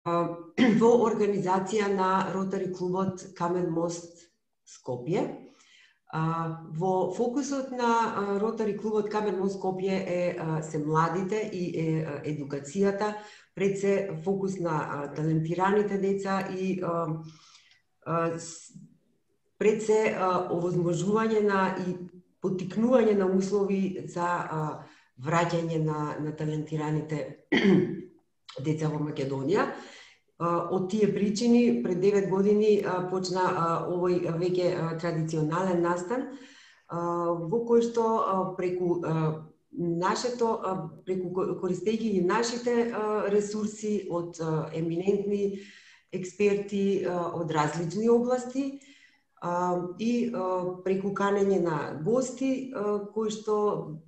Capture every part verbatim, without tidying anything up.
во организација на Ротари клубот Камен мост Скопје. Во фокусот на Ротари клубот Камен мост Скопје е се младите и е едукацијата, пред се фокус на талентираните деца и пред се овозможување на и поттикнување на услови за враќање на, на талентираните деца во Македонија. Од тие причини, пред девет години почна овој веќе традиционален настан, во кој што преку нашето, преку користејќи ги нашите ресурси од еминентни експерти од различни области и преку канење на гости кои што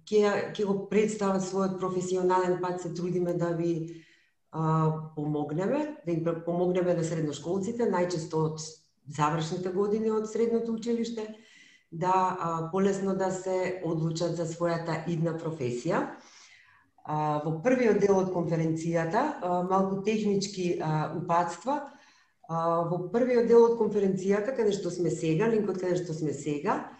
ќе ќе го представат својот професионален пат, се трудиме да ви помогнеме, да им помогнеме на средношколците, најчесто од завршните години од средното училиште, да полесно да се одлучат за својата идна професија. Во првиот дел од конференцијата, малку технички упатства, во првиот дел од конференцијата, каде што сме сега, линкот каде што сме сега,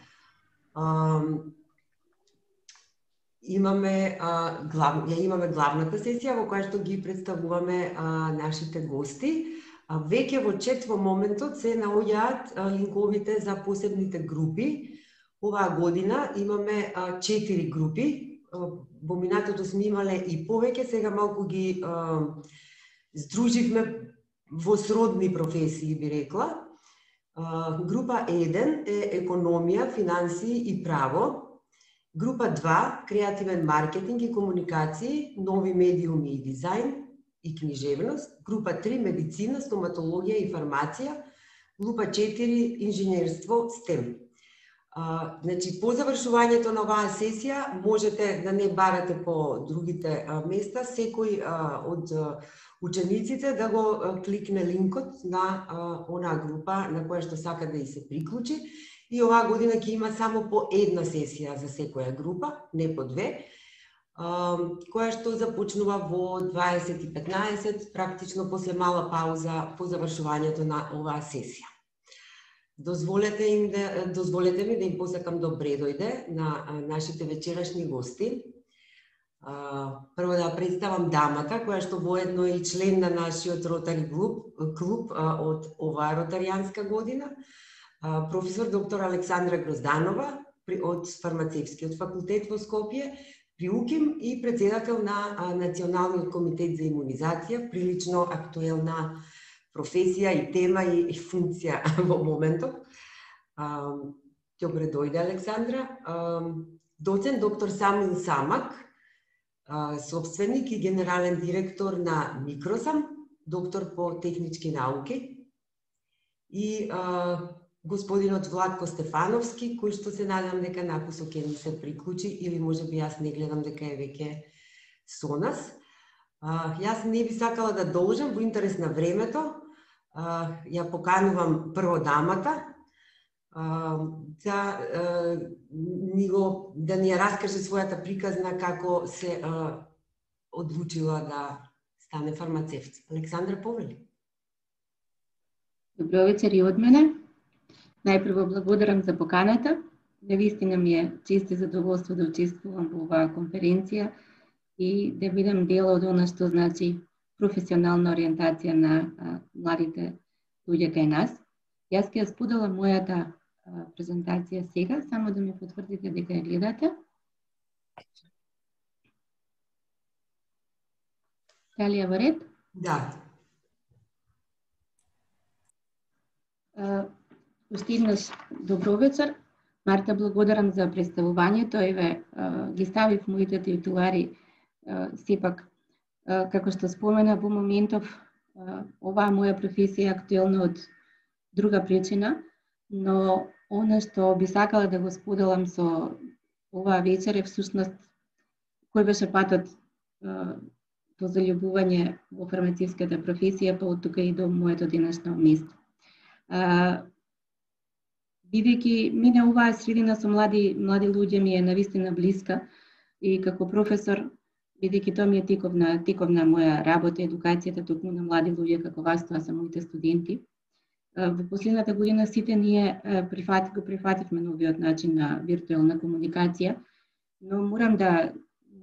имаме глав, ја имаме главната сесија во која што ги представуваме нашите гости. Веќе во чет во моментот се наоѓаат линковите за посебните групи. Оваа година имаме четири групи. Во минатото сме имале и повеќе, сега малку ги здруживме во сродни професии, би рекла. Група еден е економија, финансии и право. Група два, креативен маркетинг и комуникации, нови медиуми и дизајн и книжевност. Група три, медицина, стоматологија и фармација. Група четири, инженерство, стем. А, значи, по завршувањето на оваа сесија можете да не барате по другите а, места, секој а, од а, учениците да го а, кликне линкот на а, онаа група на која што сака да и се приклучи. И оваа година ќе има само по една сесија за секоја група, не по две, која што започнува во дваесет и петнаесет, практично после мала пауза по завршувањето на оваа сесија. Дозволете, им да, дозволете ми да им посакам добре дојде на нашите вечерашни гости. Прво да представам дамата, која што воедно е и член на нашиот Ротари клуб, клуб од оваа ротаријанска година, професор доктор Александра Грозданова од Фармацевскиот факултет во Скопје, при УКИМ и председател на Националниот комитет за имунизација, прилично актуелна професија и тема и функција во моментот. Добре дојде, Александра. Доцент доктор Самил Самак, собственик и генерален директор на Микросам, доктор по технички науки, и господинот Владко Стефановски, кој што се надам дека накусо ќе ни се приклучи, или може би јас не гледам дека е веќе со нас. А, јас не би сакала да должам во интерес на времето. А, ја поканувам прво дамата а, да, а, ни го, да ни ја раскаже својата приказна како се а, одлучила да стане фармацевт. Александра, повели. Добро вечер и од мене. Најпрво благодарам за поканата. Навистина ми е чест и задоволство да учествувам во оваа конференција и да бидам дел од она што значи професионална ориентација на а, младите луѓе кај нас. Јас ќе ја споделам мојата а, презентација сега, само да ми потврдите дека ја гледате. Дали е во ред? Да. А, Уште еднаш добро вечер. Марта, благодарам за представувањето. Еве, ги ставив моите титулари. Сепак, како што спомена во моментов, оваа моја професија е актуелна од друга причина, но она што би сакала да го споделам со оваа вечер е всушност кој беше патот до заљубување во фармацевската професија, па од тука и до моето денешно место. Бидејќи мине оваа средина со млади млади луѓе ми е навистина блиска и како професор бидејќи тоа ми е тековна, тековна моја работа, едукацијата токму на млади луѓе како вас, тоа се моите студенти. Во последната година сите ние прифат, го прифативме новиот начин на виртуелна комуникација, но морам да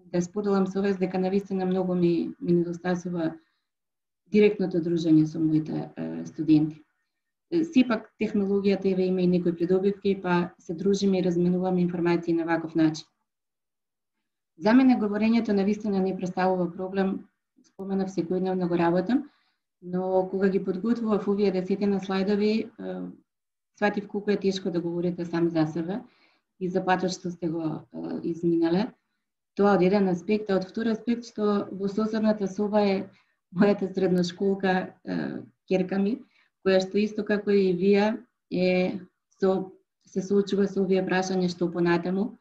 да споделам со вас дека навистина многу ми, ми недостасува директното дружење со моите е, студенти. Сепак технологијата еве има и некои придобивки, па се дружиме и разменуваме информации на ваков начин. За мене говорењето навистина не представува проблем, споменав секојдневно го работам, но кога ги подготвував овие десетина слайдови, сватив колку е тешко да говорите сам за себе и за патот што сте го изминале. Тоа од еден аспект, а од втор аспект што во соседната соба е мојата средношколка ќерка ми, која што исто како и вие е со се соочува со овие прашања што понатаму.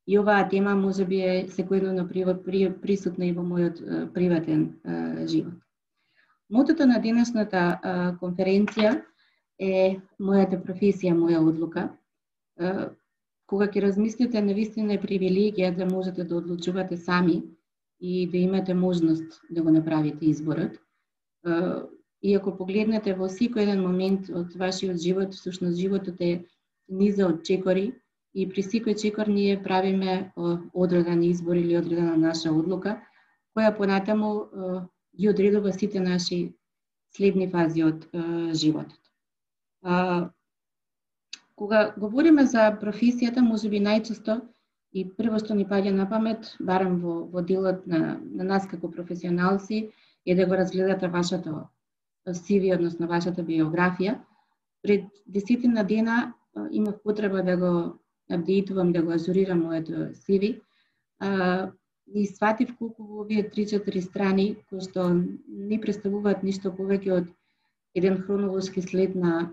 И оваа тема можеби е секојдневно при, при, присутна и во мојот приватен а, живот. Мотото на денешната а, конференција е мојата професија, моја одлука. А, кога ќе размислите, навистина е привилегија да можете да одлучувате сами и да имате можност да го направите изборот. А, и ако погледнете во секој еден момент од вашиот живот, всушност животот е низа од чекори, и при секој чекор ние правиме одреден избор или одредена наша одлука, која понатаму ги одредува сите наши следни фази од животот. Кога говориме за професијата, можеби најчесто и прво што ни паѓа на памет, барем во, во делот на, на нас како професионалци, е да го разгледате вашето си ви, односно вашата биографија. Пред десетина дена имав потреба да го апдейтувам, да го ажурирам моето си ви, а, и сватив колку во овие три-четири страни, кои што не представуваат ништо повеќе од еден хронолошки след на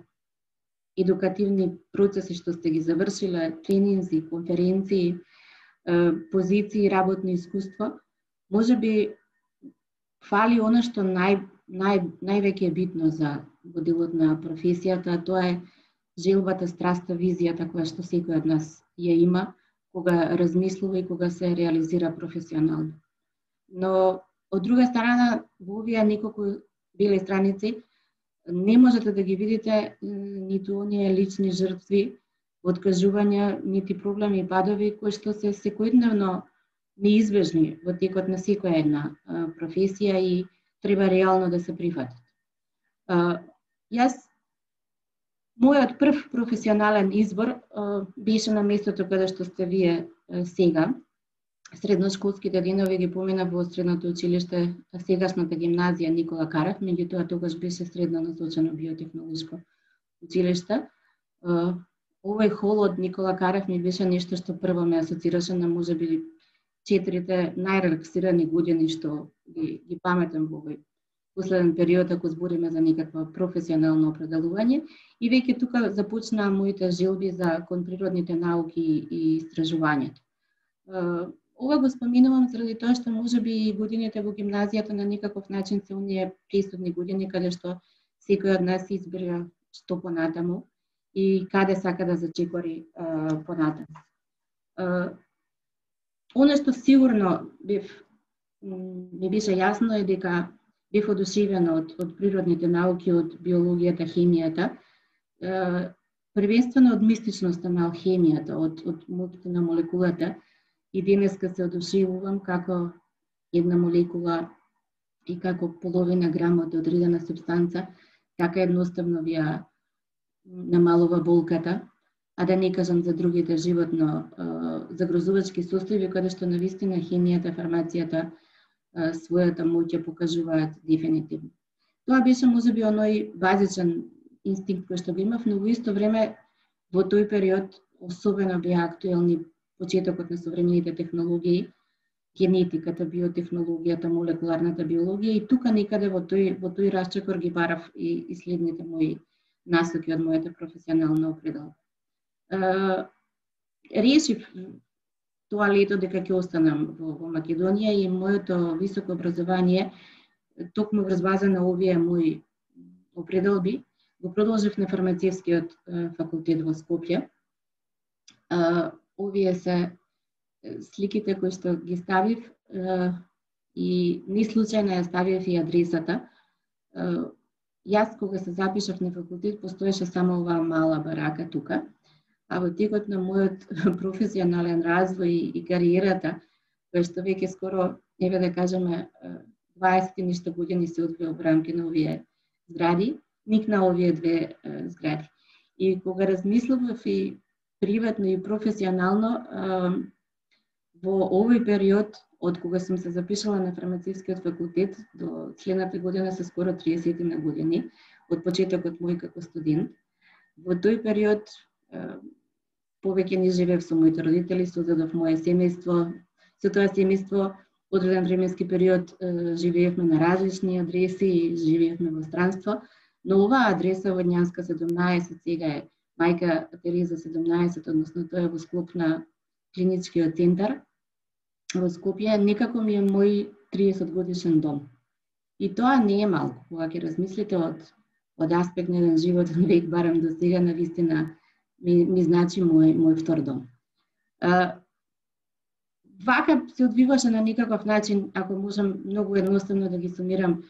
едукативни процеси што сте ги завршиле, тренинзи, конференции, позиции, работно искуство, можеби фали она што нај, нај, највеќе е битно за во делот на професијата, тоа е желбата, страста, визијата која што секој од нас ја има кога размислува и кога се реализира професионално. Но од друга страна, во овие неколку бели страници не можете да ги видите ниту оние лични жртви, откажувања, нити проблеми и падови кои што се секојдневно неизбежни во текот на секоја една професија и треба реално да се прифатат. Јас Мојот прв професионален избор а, беше на местото каде што сте вие а, сега. Средношколските денови ги поминав во средното училиште, сегашната гимназија Никола Карав, меѓутоа тогаш беше средно насочено биотехнолошко училиште. А, овој хол од Никола Карав ми беше нешто што прво ме асоцираше на можеби четирите најрелаксирани години што ги, ги паметам во овој последен период, ако збориме за некаква професионално определување. И веќе тука започнаа моите желби за кон природните науки и истражувањето. Ова го споменувам заради тоа што можеби годините во гимназијата на некаков начин се оние пресудни години каде што секој од нас избира што понатаму и каде сака да зачекори понатаму. Оно што сигурно бев, ми беше јасно е дека бев одушевена од, од природните науки, од биологијата, хемијата, е, првенствено од мистичноста на алхемијата, од, од моќта на молекулата. И денеска се одушевувам како една молекула и како половина грам од одредена субстанца, така едноставно ви ја намалува болката, а да не кажам за другите животно е, загрозувачки состојби, каде што навистина хемијата, фармацијата својата моќ ја покажуваат дефинитивно. Тоа беше можеби оној базичен инстинкт кој што го имав, но во исто време во тој период особено беа актуелни почетокот на современите технологии, генетиката, биотехнологијата, молекуларната биологија и тука некаде во тој во тој расчекор ги барав и, и следните мои насоки од мојата професионална определба. Решив тоа лето дека ќе останам во, во Македонија и моето високо образование, токму врз база на овие мои определби, го продолжив на фармацевскиот факултет во Скопје. Овие се сликите кои што ги ставив И ни случајно ја ставив и адресата. Јас кога се запишав на факултет постоеше само оваа мала барака тука, а во текот на мојот професионален развој и кариерата, која што веќе скоро, еве да кажеме, дваесет и нешто години се одвија во рамки на овие згради, никна овие две згради. И кога размислував и приватно и професионално, во овој период, од кога сум се запишала на фармацевскиот факултет до следната година се скоро триесет на години, од почетокот мој како студент, во тој период повеќе не живеев со моите родители, создадов моје семејство. Со тоа семејство одреден временски период живеевме на различни адреси и живеевме во странство, но оваа адреса во Ѓанска седумнаесет сега е Мајка Тереза седумнаесет, односно тоа е во склоп на клиничкиот центар во Скопје, некако ми е мој триесет годишен дом. И тоа не е малку, кога ќе размислите од, од аспект на еден животен век, барем до сега, навистина ми, ми значи мој, мој втор дом. А, вака се одвиваше на некаков начин, ако можам многу едноставно да ги сумирам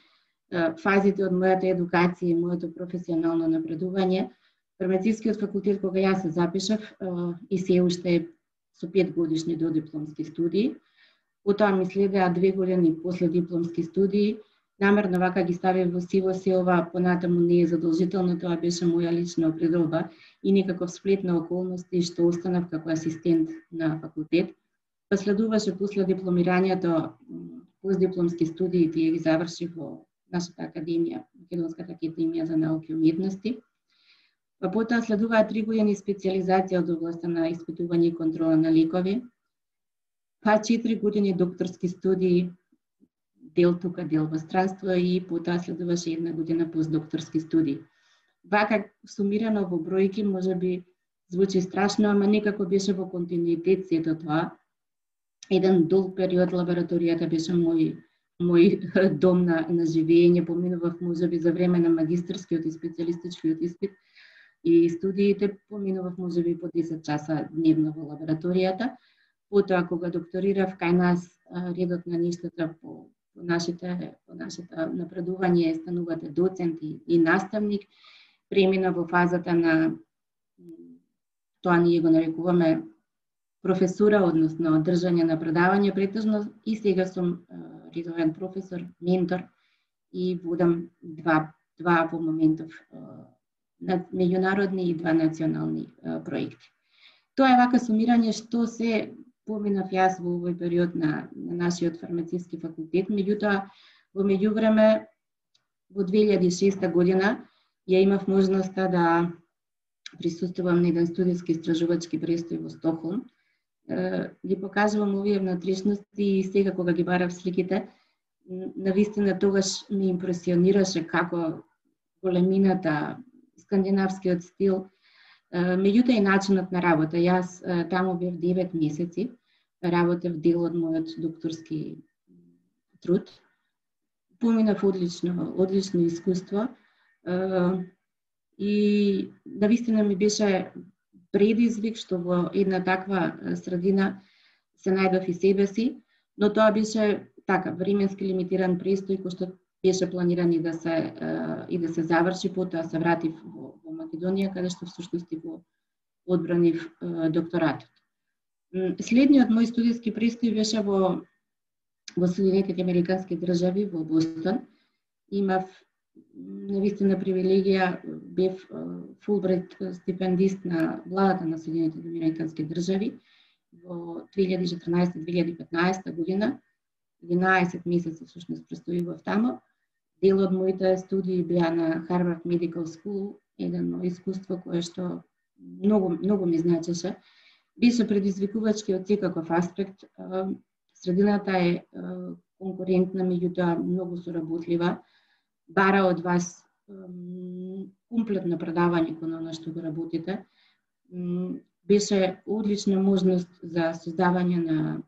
а, фазите од мојата едукација и моето професионално напредување. Фармацевскиот факултет, кога јас се запишав, а, и се уште со пет годишни додипломски студии. Потоа ми следеа две години после дипломски студии. Намерно вака ги ставив во сиво се ова, понатаму не е задолжително, тоа беше моја лична определба и некаков сплет на околности што останав како асистент на факултет. Последуваше после дипломирањето, постдипломски студии, тие ги завршив во нашата академија, Македонската академија за науки и уметности. Па потоа следуваат три години специјализација од областа на испитување и контрола на лекови, па четири години докторски студии, дел тука, дел во странство, и потоа следуваше една година постдокторски студии. Вака сумирано во бројки можеби звучи страшно, ама некако беше во континуитет сето тоа. Еден долг период лабораторијата беше мој мој дом на, на живење, поминував можеби за време на магистарскиот и специјалистичкиот испит и студиите, поминував можеби по десет часа дневно во лабораторијата. Потоа кога докторирав, кај нас редот на нештата по, по нашите по нашето напредување станувате доцент и, и наставник, премина во фазата на тоа ние го нарекуваме професура, односно држање на предавање претежно, и сега сум редовен професор, ментор и водам два два во моментов меѓународни и два национални проекти. Тоа е вака сумирање што се поминав јас во овој период на, на нашиот фармацевски факултет. Меѓутоа, во меѓувреме, во две илјади и шеста година ја имав можноста да присуствувам на еден студиски истражувачки престој во Стокхолм. Ги покажувам овие внатрешности и сега кога ги барав сликите, навистина тогаш ми импресионираше како големината, скандинавскиот стил, меѓутоа и начинот на работа. Јас таму бев девет месеци, работев дел од мојот докторски труд. Поминав одлично, одлично искуство и навистина ми беше предизвик што во една таква средина се најдов и себе си, но тоа беше така временски лимитиран престој кој што беше планиран и да се и да се заврши, потоа се вратив во, во Македонија, каде што всушност го одбранив докторатот. Следниот мој студиски престој беше во во Соединетите Американски држави, во Бостон. Имав навистина привилегија, бев Фулбрайт стипендист на владата на Соединетите Американски држави во две илјади и четрнаесета - две илјади и петнаесета година. единаесет месеци всушност престојував тамо. Дел од моите студии беа на Harvard Medical School, едно искуство кое што многу многу ми значеше. Беше предизвикувачки од секаков аспект. Средината е конкурентна, меѓутоа многу соработлива. Бара од вас комплетно предавање кон она што го работите. Беше одлична можност за создавање на,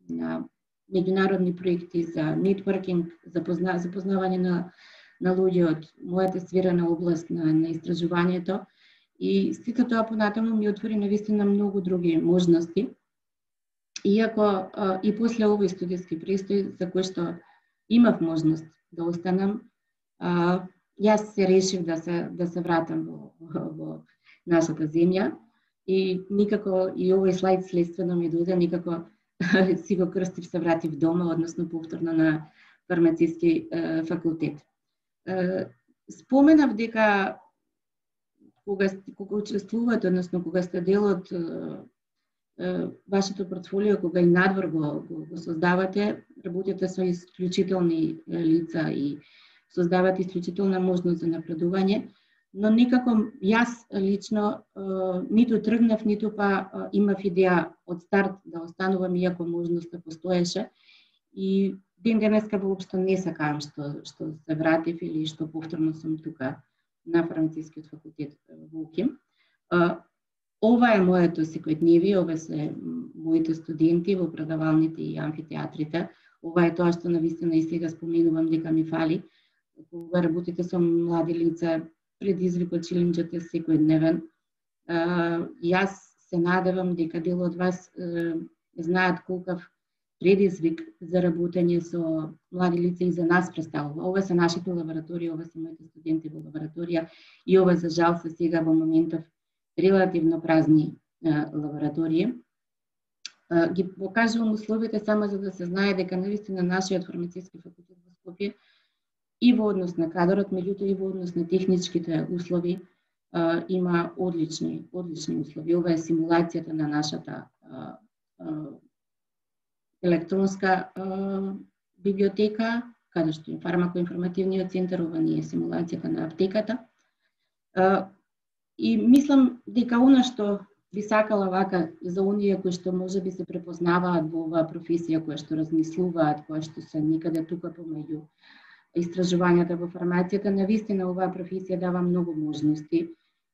на меѓународни проекти, за нетворкинг, за позна, запознавање на, на луѓе од мојата сфера на област на, на истражувањето. И сите тоа понатаму ми отвори навистина многу други можности. иако и после овој студиски престој, за кој што имав можност да останам, јас се решив да се да се вратам во, во нашата земја и никако и овој слайд следствено ми дојде, никако си го крстив, се вратив дома, односно повторно на фармациски е, факултет. Е, споменав дека кога кога учествувате, односно кога сте дел од е, вашето портфолио, кога и надвор го, го, го создавате, работите со исклучителни лица и создавате исклучителна можност за напредување, но никако јас лично е, ниту тргнав, ниту па е, имав идеја од старт да останувам, иако можноста постоеше. И ден денеска воопшто не сакам што што се вратив или што повторно сум тука на фармацискиот факултет во УКИМ. Ова е моето секојдневие, ова се моите студенти во предавалните и амфитеатрите. Ова е тоа што навистина и сега споменувам дека ми фали. Кога работите со млади лица, предизвикот челенџот е секојдневен. Јас се надевам дека дел од вас знаат колкав предизвик за работење со млади лица и за нас представува. Ова се нашите лаборатории, ова се моите студенти во лабораторија и ова за жал се сега во моментов релативно празни лаборатории. Ги покажувам условите само за да се знае дека навистина нашиот фармациски факултет во Скопје и во однос на кадрот, меѓутоа и во однос на техничките услови има одлични, одлични услови. Ова е симулацијата на нашата електронска а, библиотека, каде што е фармакоинформативниот центар, ова не е симулацијата на аптеката. А, и мислам дека она што би сакала вака за оние кои што можеби се препознаваат во оваа професија, кои што размислуваат, кои што се некаде тука помеѓу истражувањата во фармацијата, навистина оваа професија дава многу можности.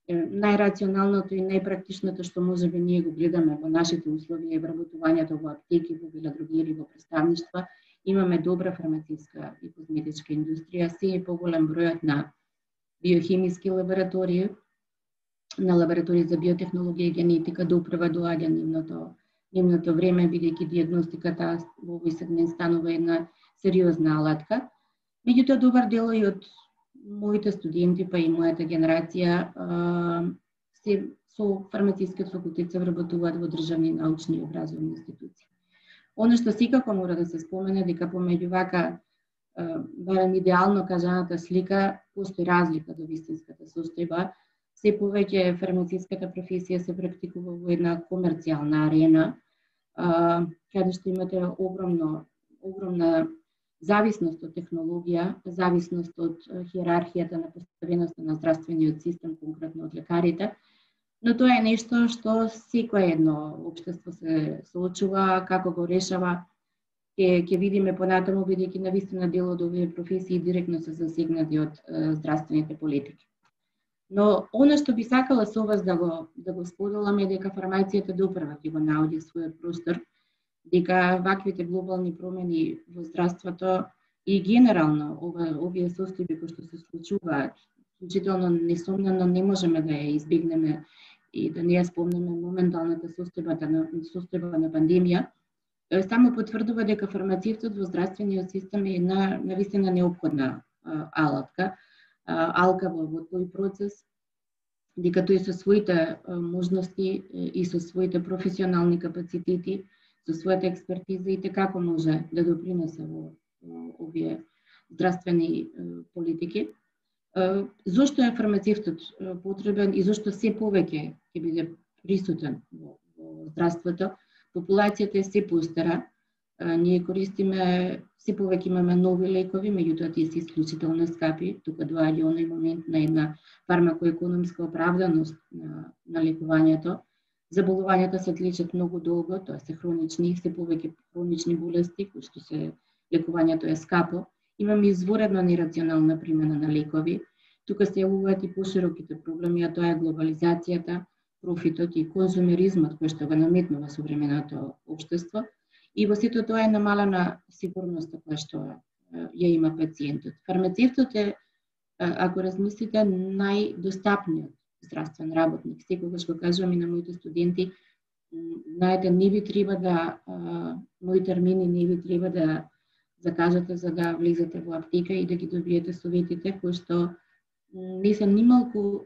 Најрационалното и најпрактичното што можеби ние го гледаме во нашите услови е вработувањето во аптеки, во велодрогери, во представништва. Имаме добра фармацевска и козметичка индустрија, се е поголем бројот на биохемиски лаборатории, на лаборатории за биотехнологија и генетика допрва доаѓа нивното, нивното време, бидејќи дијагностиката во овој сегмент станува една сериозна алатка. Меѓутоа, добар дел и од моите студенти, па и мојата генерација, се со фармацискиот факултет се вработуваат во државни научни и образовни институции. Оно што секако мора да се спомене дека помеѓу вака барем идеално кажаната слика постои разлика до вистинската состојба. Се повеќе фармациската професија се практикува во една комерцијална арена, каде што имате огромно огромна зависност од технологија, зависност од хиерархијата на поставеноста на здравствениот систем, конкретно од лекарите, но тоа е нешто што секое едно општество се соочува, како го решава, ќе ќе видиме понатаму, бидејќи навистина дел од овие професии директно се засегнати од здравствените политики. Но она што би сакала со вас да го да го споделам е дека фармацијата допрва ќе го наоѓа својот простор, дека ваквите глобални промени во здравството и генерално ова, овие состојби кои што се случуваат, вклучително несомнено не можеме да ја избегнеме и да не ја спомнеме моменталната состојба на состојба на пандемија, само потврдува дека фармацевтот во здравствениот систем е една навистина неопходна а, алатка, а, алка во, во тој процес, дека тој со своите а, можности и со своите професионални капацитети, со својата експертиза и како може да допринесе во овие здравствени политики. Зошто е фармацевтот потребен и зошто се повеќе ќе биде присутен во, во здравството? Популацијата е се постара, ние користиме, се повеќе имаме нови лекови, меѓутоа тие се исклучително скапи, тука доаѓа оној момент на една фармакоекономска оправданост на, на лекувањето. Заболувањата се лечат многу долго, тоа се хронични, се повеќе хронични болести, кои што се лекувањето е скапо. Имаме изворедно нерационална примена на лекови. Тука се јавуваат и пошироките проблеми, а тоа е глобализацијата, профитот и конзумеризмот кој што го наметнува современото општество. И во сето тоа е намалена сигурноста која што ја има пациентот. Фармацевтот е, ако размислите, најдостапниот здравствен работник. Секогаш го кажувам и на моите студенти, знаете, не ви треба да, мои термини не ви треба да закажете за да влезете во аптека и да ги добиете советите, кои што не се нималку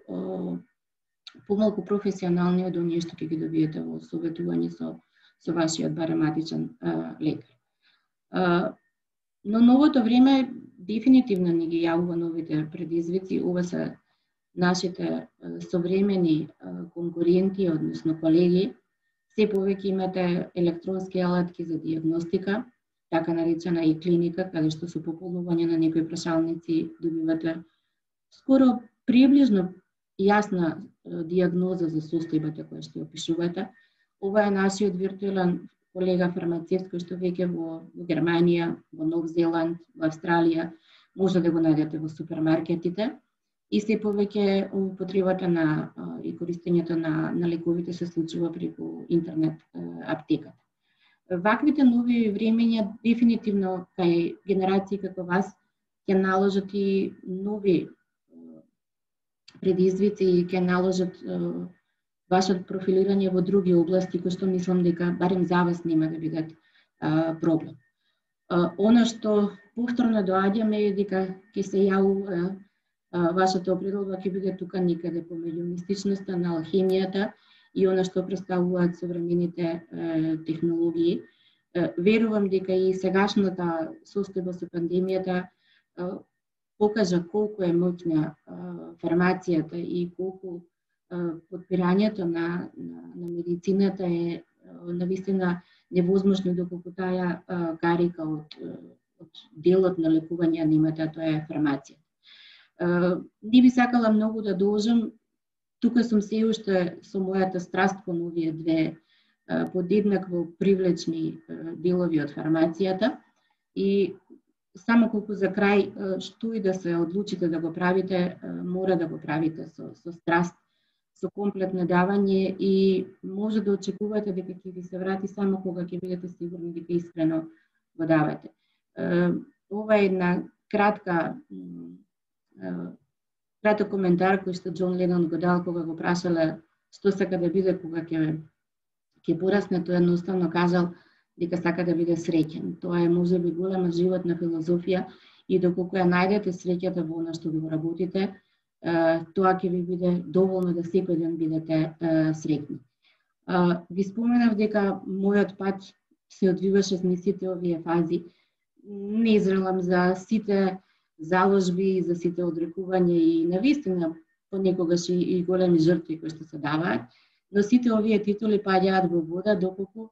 помалку професионални од оние што ќе ги добиете во советување со, со вашиот барематичен лекар. А, но новото време дефинитивно ни ги јавува новите предизвици. Ова се нашите современи конкуренти, односно колеги. Се повеќе имате електронски алатки за диагностика, така наречена и клиника, каде што со пополнување на некои прашалници добивате скоро приближно јасна диагноза за состојбата која што опишувате. Ова е нашиот виртуелен колега фармацевт кој што веќе во, во Германија, во Нов Зеланд, во Австралија може да го најдете во супермаркетите и се повеќе употребата на и користењето на, на лековите се случува преку интернет аптеката. Ваквите нови времења дефинитивно кај генерации како вас ќе наложат и нови предизвици и ќе наложат вашето профилирање во други области кои што мислам дека барем за вас нема да бидат а, проблем. А, она што повторно доаѓаме е дека ќе се јавува вашата определба ќе биде тука никаде помеѓу мистичноста на алхемијата и она што представуваат современите е, технологии. Е, верувам дека и сегашната состојба со пандемијата е, покажа колку е моќна фармацијата и колку подпирањето на, на, на медицината е навистина невозможно доколку таа карика од, од делот на лекување немате, а тоа е фармација. Не би сакала многу да должам, тука сум се уште со мојата страст кон овие две подеднакво привлечни делови од фармацијата и само колку за крај, што и да се одлучите да го правите, мора да го правите со, со страст, со комплетно давање и може да очекувате дека ќе ви се врати само кога ќе бидете сигурни дека искрено го давате. Ова е една кратка краток коментар кој што Џон Ленон го дал кога го прашале што сака да биде кога ќе ќе порасне, тој едноставно кажал дека сака да биде среќен. Тоа е можеби голема животна филозофија и доколку ја најдете среќата во она што го работите, тоа ќе ви биде доволно да секој ден бидете среќни. Ви споменав дека мојот пат се одвиваше низ сите овие фази. Не зрелам за сите заложби, за сите одрекувања и навистина понекогаш и, и големи жртви кои што се даваат, но сите овие титули паѓаат во вода доколку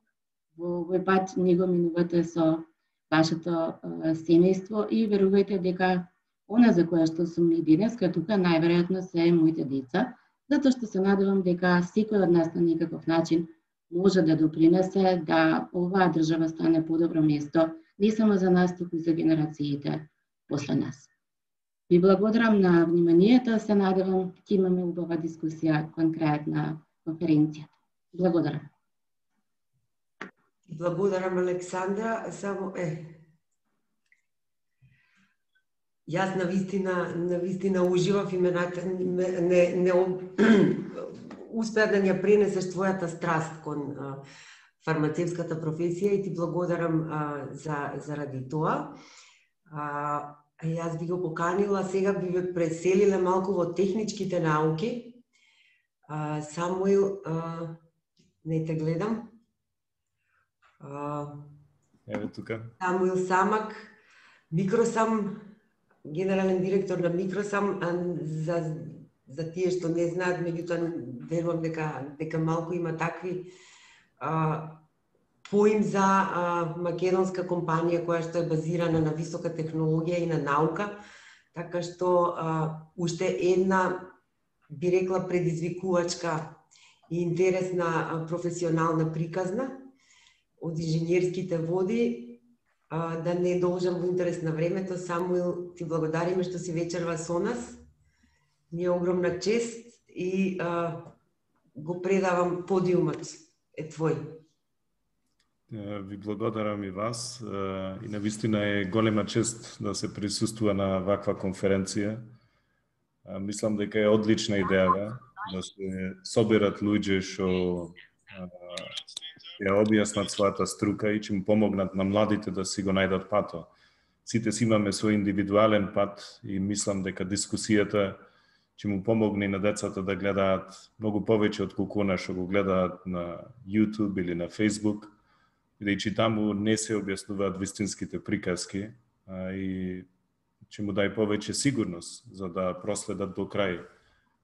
во овој пат не го минувате со вашето семејство и верувајте дека она за која што сум и денеска тука најверојатно се моите деца, затоа што се надевам дека секој од нас на некаков начин може да допринесе да оваа држава стане подобро место, не само за нас, туку и за генерациите после нас. Ви благодарам на вниманието, се надевам ќе имаме убава дискусија кон крајот на конференцијата. Благодарам. Благодарам, Александра. Само е Јас на вистина, на вистина уживав и ме не, не, не успеа да ја пренесеш твојата страст кон а, фармацевската професија и ти благодарам а, за заради тоа. А, јас би го поканила, сега би ве преселила малку во техничките науки. А, Самуил, а, не те гледам. А, Еве тука. Самуил Самак, Микросам, генерален директор на Микросам, за за тие што не знаат, меѓутоа верувам дека дека малку има такви а, поим за а, македонска компанија која што е базирана на висока технологија и на наука, така што а, уште една би рекла предизвикувачка и интересна а, професионална приказна од инженерските води. Uh, да не должам во интерес на времето. Самуил, ти благодариме што си вечерва со нас. Ни е огромна чест и uh, го предавам подиумот е твој. Ви благодарам и вас. И навистина е голема чест да се присуствува на ваква конференција. Мислам дека е одлична идеја да се соберат луѓе што ја објаснат својата струка и ќе му помогнат на младите да си го најдат пато. Сите си имаме свој индивидуален пат и мислам дека дискусијата ќе му помогне на децата да гледаат многу повеќе од колку она што го гледаат на YouTube или на Facebook, бидејќи таму не се објаснуваат вистинските приказки, а и ќе му дај повеќе сигурност за да проследат до крај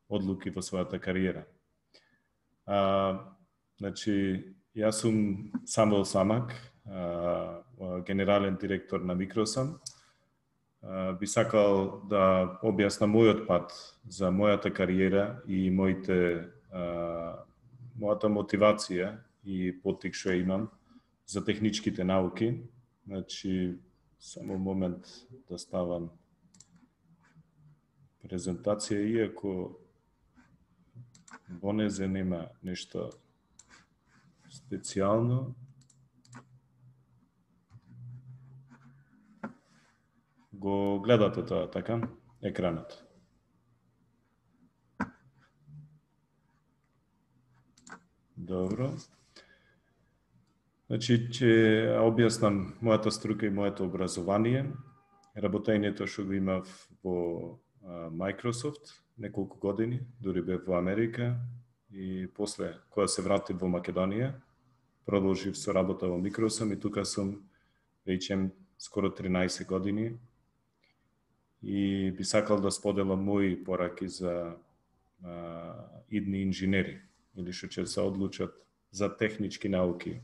одлуки во својата кариера. А, значи, јас сум Самуел Самак, а, генерален директор на Microsun. Би сакал да објаснам мојот пат за мојата кариера и моите, а, мојата мотивација и поттик што имам за техничките науки. Значи, само момент да ставам презентација, иако во незе нема нешто специјално. Го гледате тоа, така? Екранот. Добро. Значи, ќе објаснам мојата струка и моето образование, работењето што го имав во Microsoft неколку години, дури бев во Америка и после, кога се вратив во Македонија, продолжив со работа во Microsoft и тука сум веќе скоро тринаесет години и би сакал да споделам мои пораки за а, идни инженери или што ќе се одлучат за технички науки.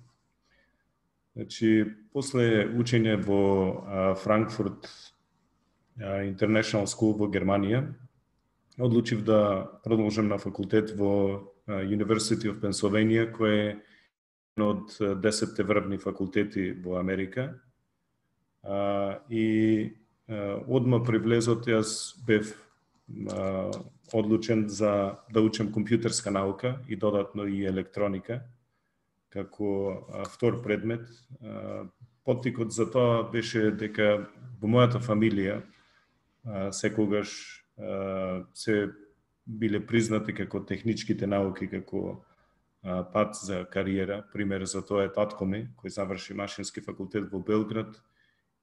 Значи, после учење во а, Франкфурт а, International School во Германија, одлучив да продолжам на факултет во а, University of Pennsylvania, кој е еден од десетте врвни факултети во Америка. А, и а, одма при влезот јас бев а, одлучен за да учам компјутерска наука и додатно и електроника како а, втор предмет. А, поттикот за тоа беше дека во мојата фамилија а, секогаш а, се биле признати како техничките науки, како а, пат за кариера. Пример за тоа е татко ми, кој заврши машински факултет во Белград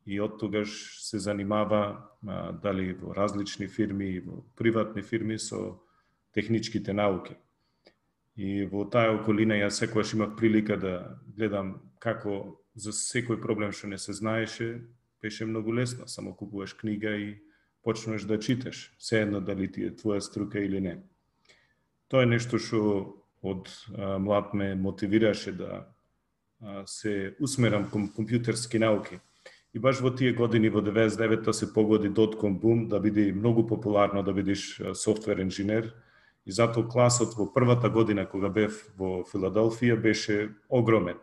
и од тогаш се занимава а, дали во различни фирми и во приватни фирми со техничките науки. И во таа околина јас секогаш имав прилика да гледам како за секој проблем што не се знаеше, беше многу лесно, само купуваш книга и почнеш да читаш, се едно дали ти е твоја струка или не. Тоа е нешто што од а, млад ме мотивираше да а, се усмерам кон компјутерски науки. И баш во тие години, во деветдесет и девета се погоди дотком бум, да биде многу популарно да бидеш софтвер инженер. И затоа класот во првата година кога бев во Филаделфија беше огромен.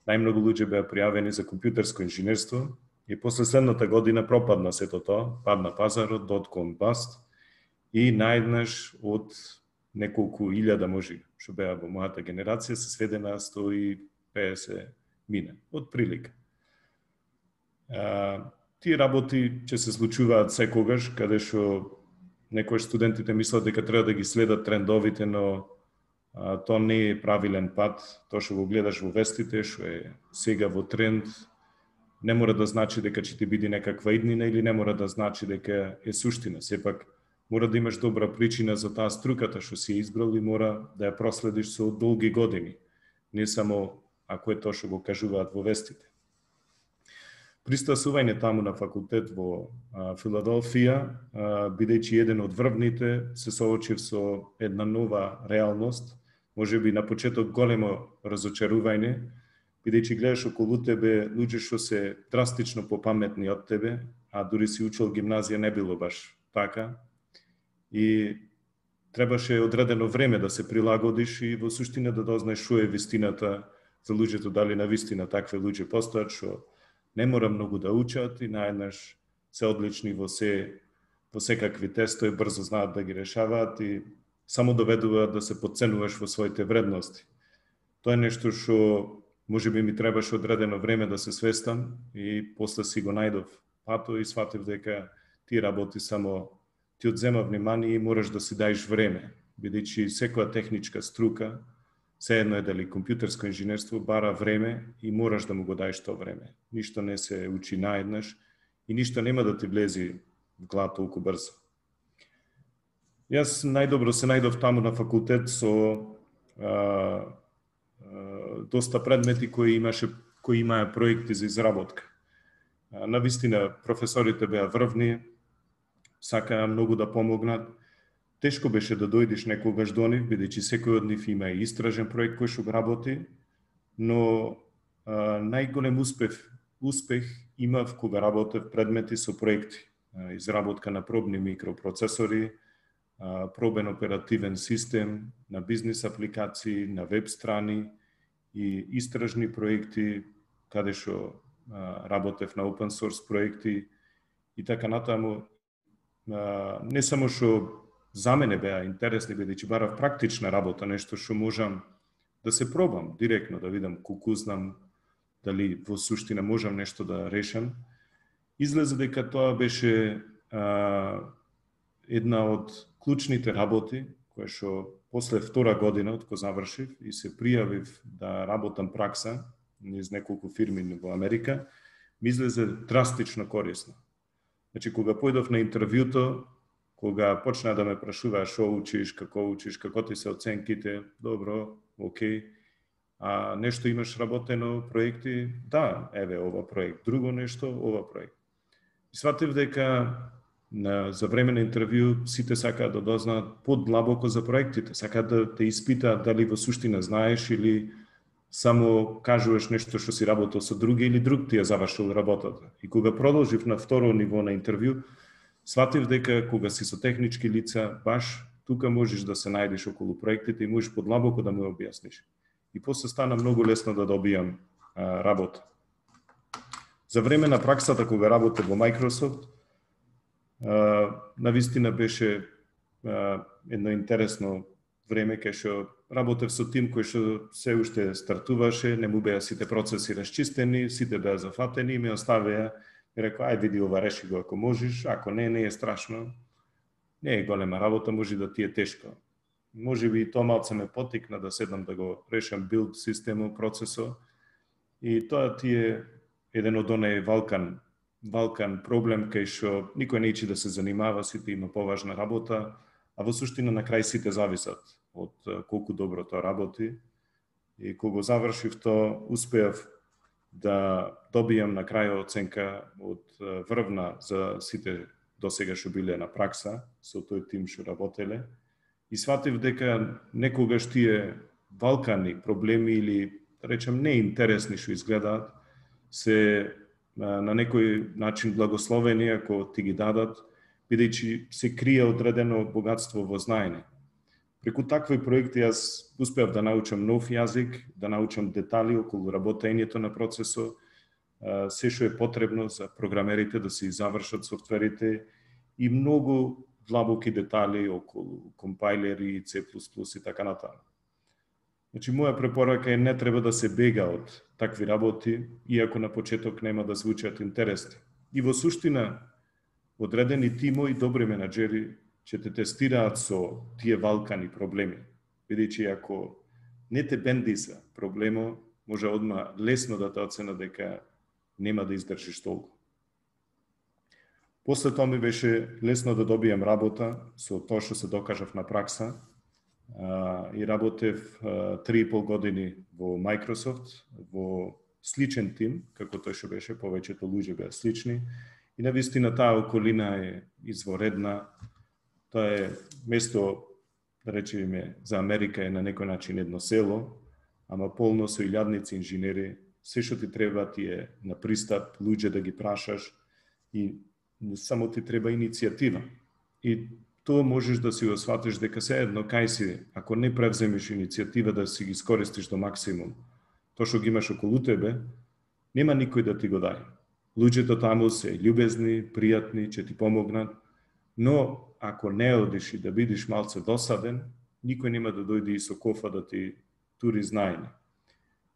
Најмногу луѓе беа пријавени за компјутерско инженерство и после следната година пропадна сето тоа, падна пазарот, дотком баст и најднаш од неколку илјада може што беа во мојата генерација се сведе на сто и педесет мина, од прилика. А, тие работи ќе се случуваат секогаш, каде што некои студентите мислат дека треба да ги следат трендовите, но а, тоа не е правилен пат. Тоа што го гледаш во вестите, што е сега во тренд, не мора да значи дека ќе ти биде некаква иднина или не мора да значи дека е суштина. Сепак мора да имаш добра причина за таа струката што си избрал и мора да ја проследиш со долги години, не само ако е тоа што го кажуваат во вестите. Пристасување таму на факултет во а, Филаделфија, а, бидејќи еден од врвните, се соочив со една нова реалност, можеби на почеток големо разочарување, бидејќи гледаш околу тебе луѓе што се драстично попаметни од тебе, а дури си учил гимназија не било баш така. И требаше одредено време да се прилагодиш и во суштина да дознаеш што е вистината за луѓето, дали на вистина такви луѓе постојат што не мора многу да учат и наеднаш се одлични во се во секакви тестови, брзо знаат да ги решаваат и само доведуваат да се подценуваш во своите вредности. Тоа е нешто што можеби ми требаше одредено време да се свестам и после си го најдов пато и сватив дека тие работи само ти одзема внимание и мораш да си даеш време, бидејќи секоја техничка струка Се едно е дали компјутерско инженерство бара време и мораш да му го даеш тоа време. Ништо не се учи наеднаш и ништо нема да ти влези в глава толку брзо. Јас најдобро се најдов таму на факултет со а, а, доста предмети кои имаше кои имаа проекти за изработка. А, навистина професорите беа врвни, сакаа многу да помогнат. Тешко беше да дојдеш некогаш до нив, бидејќи секој од нив има и истражен проект кој што го работи, но а, најголем успех, успех имав кога работев предмети со проекти. А, изработка на пробни микропроцесори, а, пробен оперативен систем, на бизнис апликации, на веб страни и истражни проекти, каде што а, работев на open source проекти и така натаму. А, не само што за мене беа интересни, бидејќи барав практична работа, нешто што можам да се пробам директно, да видам колку знам, дали во суштина можам нешто да решам. Излезе дека тоа беше а, една од клучните работи, која што после втора година од кога завршив и се пријавив да работам пракса низ неколку фирми во Америка, ми излезе драстично корисно. Значи, кога појдов на интервјуто, кога почна да ме прашуваа што учиш, како учиш, како ти се оценките, добро, окей, а нешто имаш работено, проекти, да, еве ова проект, друго нешто, ова проект. И сватив дека на, за време на интервју сите сакаат да дознаат подлабоко за проектите, сакаат да те испитаат дали во суштина знаеш или само кажуваш нешто што си работел со други или друг ти ја завршил работата. И кога продолжив на второ ниво на интервју, сватив дека кога си со технички лица, баш тука можеш да се најдеш околу проектите и можеш подлабоко да му објасниш. И после стана многу лесно да добијам а, работа. За време на праксата, кога работев во Microsoft, а, навистина беше а, едно интересно време кај што работев со тим кој што се уште стартуваше, не му беа сите процеси расчистени, сите беа зафатени и ме оставија. Ми рекоа, ај види ова, реши го ако можеш, ако не, не е страшно. Не е голема работа, може да ти е тешко. Може би и тоа малце ме потикна да седнам да го решам билд системот, процесот. И тоа ти е еден од оние валкан, валкан проблем кај што никој не ичи да се занимава, сите има поважна работа, а во суштина на крај сите зависат од колку добро тоа работи. И кога завршив тоа, успеав да добијам на крај оценка од врвна за сите досега што биле на пракса со тој тим што работеле и сватив дека некогаш тие валкани проблеми или да речем неинтересни што изгледаат се на некој начин благословени ако ти ги дадат, бидејќи се крие одредено богатство во знаење. Преку такви проекти јас успеав да научам нов јазик, да научам детали околу работењето на процесот, се што е потребно за програмерите да се завршат софтверите и многу длабоки детали околу компајлери, C plus plus и така натаму. Значи, моја препорака е не треба да се бега од такви работи, иако на почеток нема да звучат интересни. И во суштина, одредени тимови добри менаџери ќе те тестираат со тие валкани проблеми. Бидејќи ако не те бендиса проблемо, може одма лесно да те оцена дека нема да издржиш толку. После тоа ми беше лесно да добијам работа со тоа што се докажав на пракса а, и работев а, три и пол години во Microsoft, во сличен тим, како тој што беше, повеќето луѓе беа слични и навистина таа околина е изворедна. Тоа е место, да речеме, за Америка е на некој начин едно село, ама полно со илјадници инженери, се што ти треба ти е на пристап, луѓе да ги прашаш и само ти треба иницијатива. И тоа можеш да си го сватиш дека се едно кај си, ако не превземеш иницијатива да си ги искористиш до максимум, тоа што ги имаш околу тебе, нема никој да ти го даде. Луѓето таму се љубезни, пријатни, ќе ти помогнат, но ако не одиш и да бидиш малце досаден, никој нема да дојде и со кофа да ти тури знаење.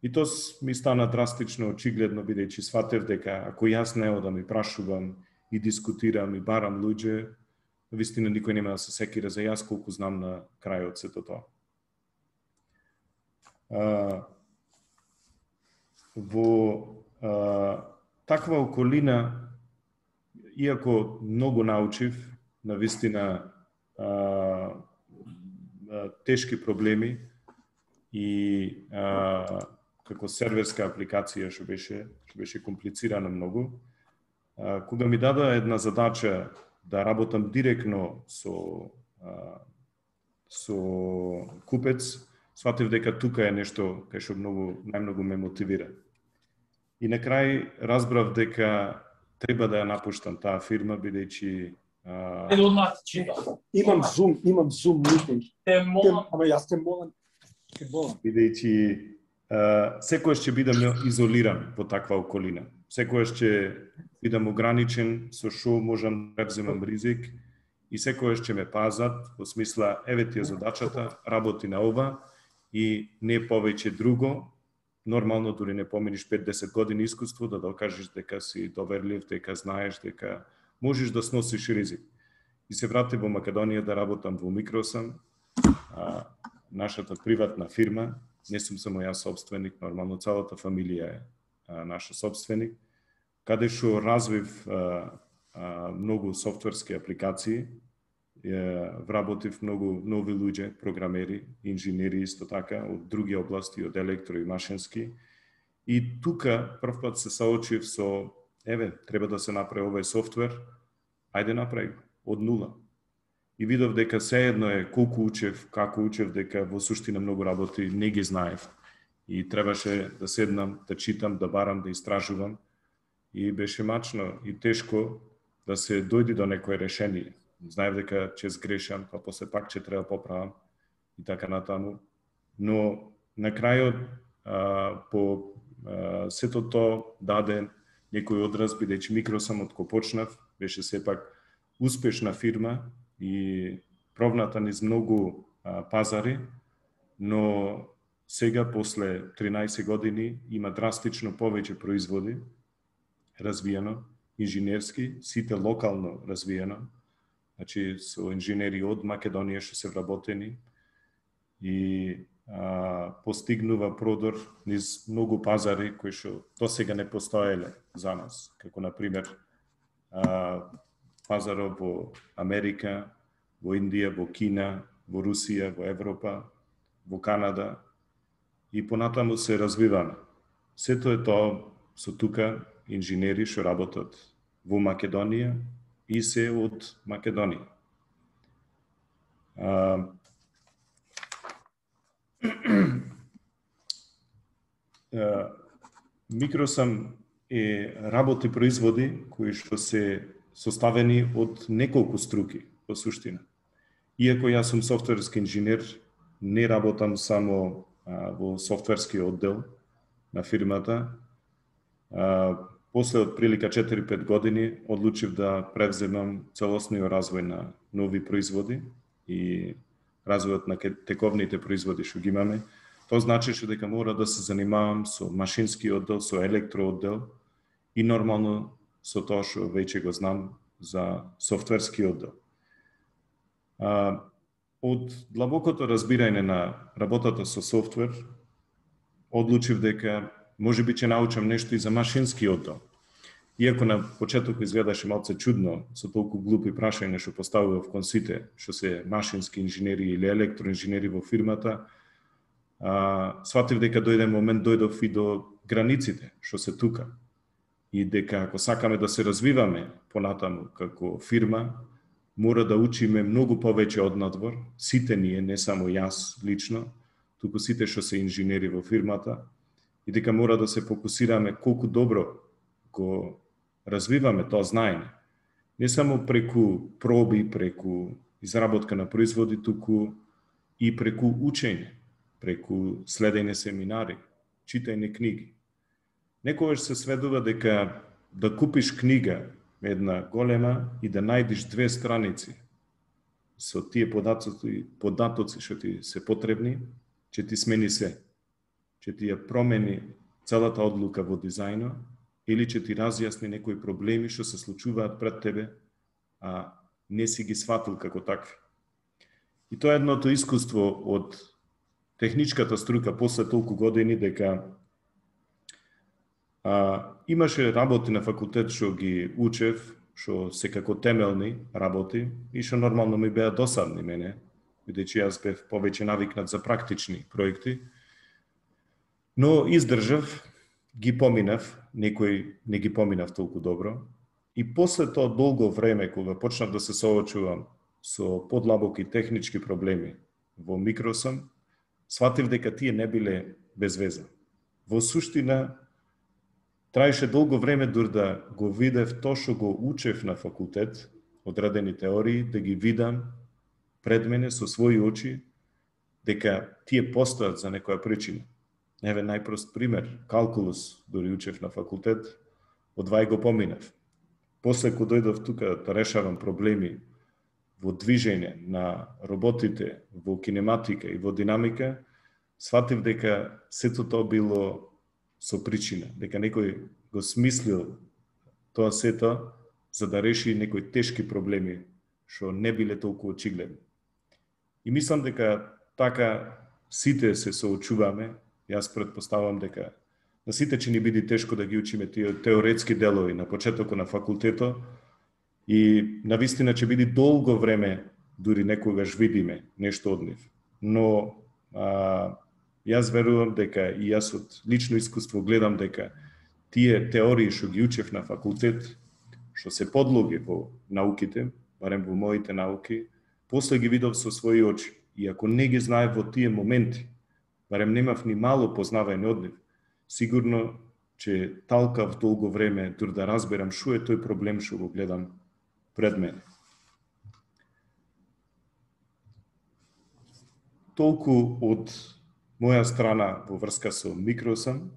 И тоа ми стана драстично очигледно, бидејќи сватев дека ако јас не одам и прашувам и дискутирам и барам луѓе, вистина никој нема да се секира за јас колку знам на крајот сето тоа. А, во а, таква околина, иако многу научив, навистина а, а, тешки проблеми и а, како серверска апликација што беше што беше комплицирана многу, а, кога ми дадоа една задача да работам директно со а, со купец, сватив дека тука е нешто кај што многу најмногу ме мотивира. И на крај разбрав дека треба да ја напуштам таа фирма, бидејќи а... имам Zoom, имам Zoom meeting. Те молам, ама јас те молам, те молам. Бидејќи секојаш ќе бидам изолиран во таква околина. Секојаш ќе бидам ограничен со што можам да преземам ризик и секојаш ќе ме пазат во смисла еве ти е задачата, работи на ова и не повеќе друго. Нормално дури не поминиш пет до десет години искуство да докажеш дека си доверлив, дека знаеш, дека можеш да сносиш ризик. И се вратив во Македонија да работам во Микросам, а, нашата приватна фирма. Не сум само јас собственик, нормално целата фамилија е а, наша собственик, каде што развив а, а, многу софтверски апликации, е, вработив многу нови луѓе, програмери, инженери исто така, од други области, од електро и машински. И тука прв пат се соочив со, еве, треба да се направи овој софтвер, ајде направи од нула. И видов дека сеедно е колку учев, како учев, дека во суштина многу работи не ги знаев. И требаше да седнам, да читам, да барам, да истражувам. И беше мачно и тешко да се дојди до некое решение. Знаев дека ќе сгрешам, па после пак ќе треба поправам и така натаму. Но на крајот, а, по а, сето то даде некој одраз, бидејќи Микросам од кој почнав, беше сепак успешна фирма и пробната низ многу а, пазари, но сега, после тринаесет години, има драстично повеќе производи, развиено, инженерски, сите локално развиено, значи со инженери од Македонија што се вработени и а, постигнува продор низ многу пазари кои што до сега не постоеле за нас, како на пример а, пазарот во Америка, во Индија, во Кина, во Русија, во Европа, во Канада и понатаму се развиваме. Сето е тоа со тука инженери што работат во Македонија и се од Македонија. А, Микросам е работи производи кои што се составени од неколку струки во суштина. Иако јас сум софтверски инженер, не работам само а, во софтверски оддел на фирмата. А, после од прилика четири-пет години одлучив да превземам целосниот развој на нови производи и развојот на тековните производи што ги имаме. Тоа значеше дека мора да се занимавам со машински оддел, со електрооддел и нормално со тоа што веќе го знам за софтверски оддел. А, од длабокото разбирање на работата со софтвер, одлучив дека може би ќе научам нешто и за машински оддел. Иако на почеток изгледаше малце чудно со толку глупи прашања што поставував кон сите, што се машински инженери или електроинженери во фирмата, а, сватив дека дојде момент дојдов и до границите што се тука. И дека ако сакаме да се развиваме понатаму како фирма, мора да учиме многу повеќе од надвор, сите ние, не само јас лично, туку сите што се инженери во фирмата, и дека мора да се фокусираме колку добро го развиваме тоа знаење. Не само преку проби, преку изработка на производи, туку и преку учење, преку следење семинари, читање книги. Некогаш се сведува дека да купиш книга една голема и да најдеш две страници со тие податоци, податоци што ти се потребни, ќе ти смени се. Ќе ти ја промени целата одлука во дизајнот или ќе ти разјасни некои проблеми што се случуваат пред тебе, а не си ги сватил како такви. И тоа е едното искуство од техничката струка после толку години дека а, имаше работи на факултет што ги учев, што се како темелни работи и што нормално ми беа досадни мене, бидејќи јас бев повеќе навикнат за практични проекти. Но издржав, ги поминав, некои не ги поминав толку добро. И после тоа долго време, кога почнав да се соочувам со подлабоки технички проблеми во микросом, сватив дека тие не биле без веза. Во суштина, траеше долго време дур да го видев тоа што го учев на факултет, одредени теории, да ги видам пред мене со своји очи, дека тие постојат за некоја причина. Еве најпрост пример, калкулус, дори учев на факултет, од вај го поминав. После кога дојдов тука да решавам проблеми во движење на роботите, во кинематика и во динамика, сватив дека сето тоа било со причина, дека некој го смислил тоа сето за да реши некои тешки проблеми што не биле толку очигледни. И мислам дека така сите се соочуваме. Јас претпоставам дека на сите ќе ни биде тешко да ги учиме тие теоретски делови на почетокот на факултетот и навистина ќе биде долго време дури некогаш видиме нешто од нив. Но а, јас верувам дека и јас од лично искуство гледам дека тие теории што ги учев на факултет, што се подлоги во науките, барем во моите науки, после ги видов со своји очи. И ако не ги знаев во тие моменти, барем немав ни мало познавање од нив, сигурно че талкав долго време дур да разберам што е тој проблем што го гледам пред мене. Толку од моја страна во врска со микросом.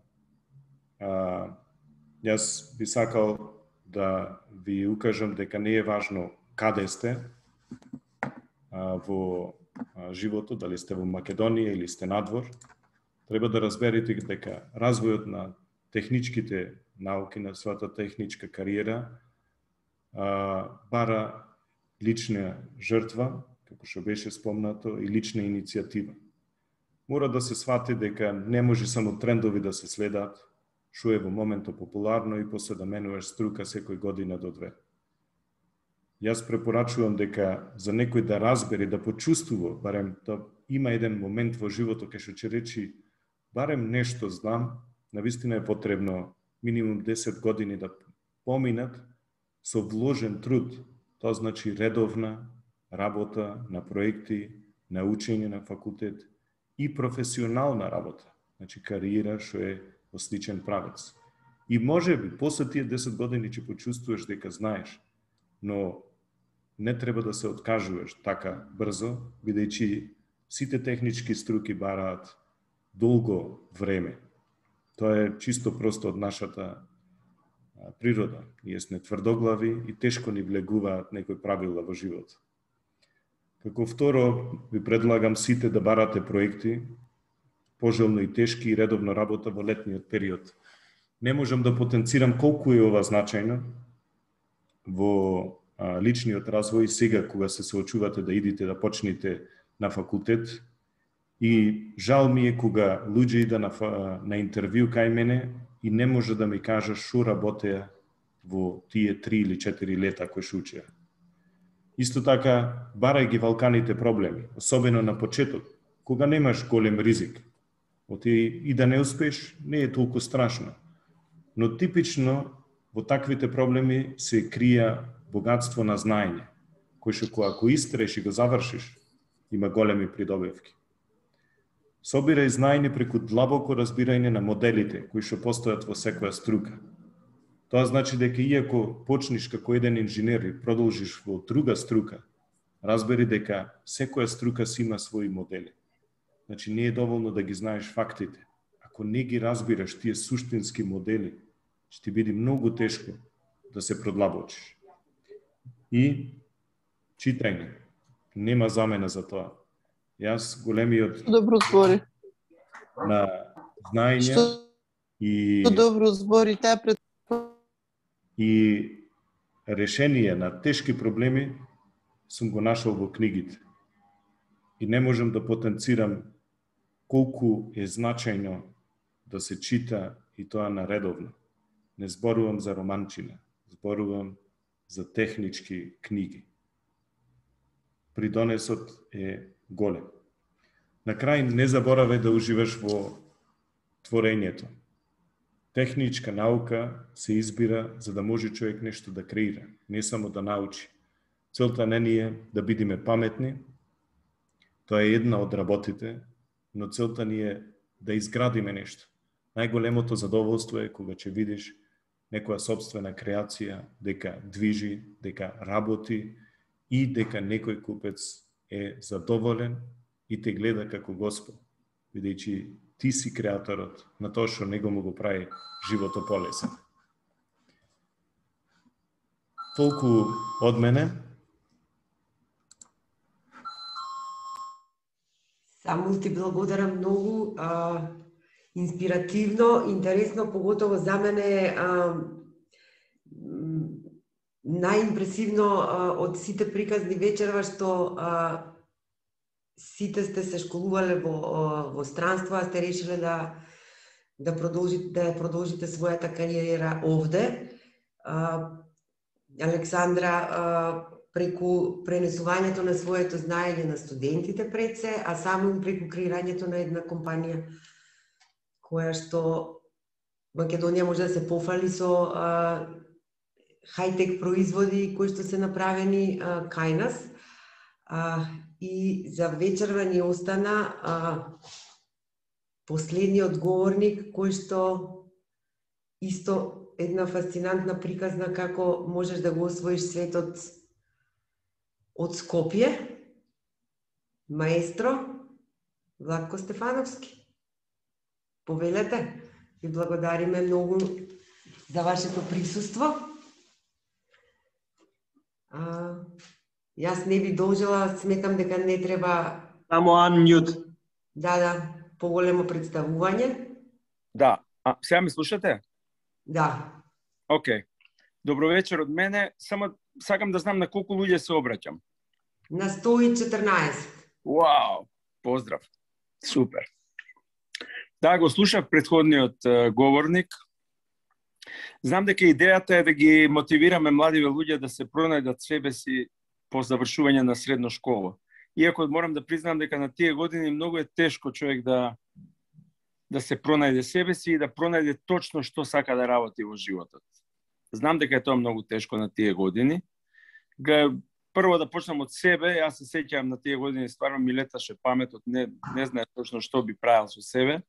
А, јас би сакал да ви укажам дека не е важно каде сте а, во а, животот, дали сте во Македонија или сте надвор. Треба да разберете дека развојот на техничките науки, на својата техничка кариера, а, бара лична жртва, како што беше спомнато, и лична иницијатива. Мора да се свати дека не може само трендови да се следат, што е во моментот популарно и после да менуваш струка секој година до две. Јас препорачувам дека за некој да разбере, да почувствува, барем да има еден момент во животот кај што ќе речи барем нешто знам, навистина е потребно минимум десет години да поминат со вложен труд. Тоа значи редовна работа на проекти, на учење на факултет и професионална работа, значи кариера што е во сличен правец. И може би после тие десет години ќе почувствуваш дека знаеш, но не треба да се откажуваш така брзо, бидејќи сите технички струки бараат долго време. Тоа е чисто просто од нашата природа. Ние сме тврдоглави и тешко ни влегуваат некои правила во живот. Како второ, ви предлагам сите да барате проекти, пожелно и тешки и редовно работа во летниот период. Не можам да потенцирам колку е ова значајно во а, личниот развој сега кога се соочувате да идите да почнете на факултет. И жал ми е кога луѓе ида на, на интервју кај мене и не може да ми кажа што работеа во тие три или четири лета кои што учеа. Исто така, барај ги валканите проблеми, особено на почеток, кога немаш голем ризик. Оти и да не успеш, не е толку страшно. Но типично во таквите проблеми се крија богатство на знаење, кој што ако истреш и го завршиш, има големи придобивки. Собирај знаење преку длабоко разбирање на моделите кои што постојат во секоја струка. Тоа значи дека иако почнеш како еден инженер и продолжиш во друга струка, разбери дека секоја струка си има своји модели. Значи не е доволно да ги знаеш фактите. Ако не ги разбираш тие суштински модели, ќе ти биде многу тешко да се продлабочиш. И читање. Нема замена за тоа. Јас големиот добро збори на знаење Што... и добро збори таа пред и решение на тешки проблеми сум го нашол во книгите. И не можам да потенцирам колку е значајно да се чита и тоа наредовно. Не зборувам за романчина, зборувам за технички книги. Придонесот е голем. На крај не заборавај да уживаш во творењето. Техничка наука се избира за да може човек нешто да креира, не само да научи. Целта не ни е да бидеме паметни, тоа е една од работите, но целта ни е да изградиме нешто. Најголемото задоволство е кога ќе видиш некоја собствена креација, дека движи, дека работи и дека некој купец е задоволен и те гледа како Господ, бидејќи ти си креаторот на тоа што него му го прави животот полесен. Толку од мене. Само ти благодарам многу, а, инспиративно, интересно, поготово за мене а, најимпресивно а, од сите приказни вечерва што а, сите сте се школувале во, во странство, а сте решиле да да продолжите да продолжите својата кариера овде. А, Александра а, преку пренесувањето на своето знаење на студентите пред се, а само преку креирањето на една компанија која што Македонија може да се пофали со а, хајтек производи кои што се направени а, кај нас. А, и за вечерва ни остана а, последниот говорник кој што исто една фасцинантна приказна како можеш да го освоиш светот од Скопје, маестро Владко Стефановски. Повелете, ви благодариме многу за вашето присуство. А, јас не ви должела, сметам дека не треба... Само unmute. Да, да, поголемо представување. Да, а сега ме слушате? Да. Океј. Добро вечер од мене. Само сакам да знам на колку луѓе се обраќам. На сто и четрнаесет. Вау, поздрав. Супер. Да, го слушав предходниот uh, говорник. Знам дека идејата е да ги мотивираме младиве луѓе да се пронајдат себе си по завршување на средна школа. Иако морам да признам дека на тие години многу е тешко човек да да се пронајде себе си и да пронајде точно што сака да работи во животот. Знам дека е тоа многу тешко на тие години. Прво да почнам од себе, јас се сеќавам на тие години, стварно ми леташе паметот, не, не знае точно што би правил со себе.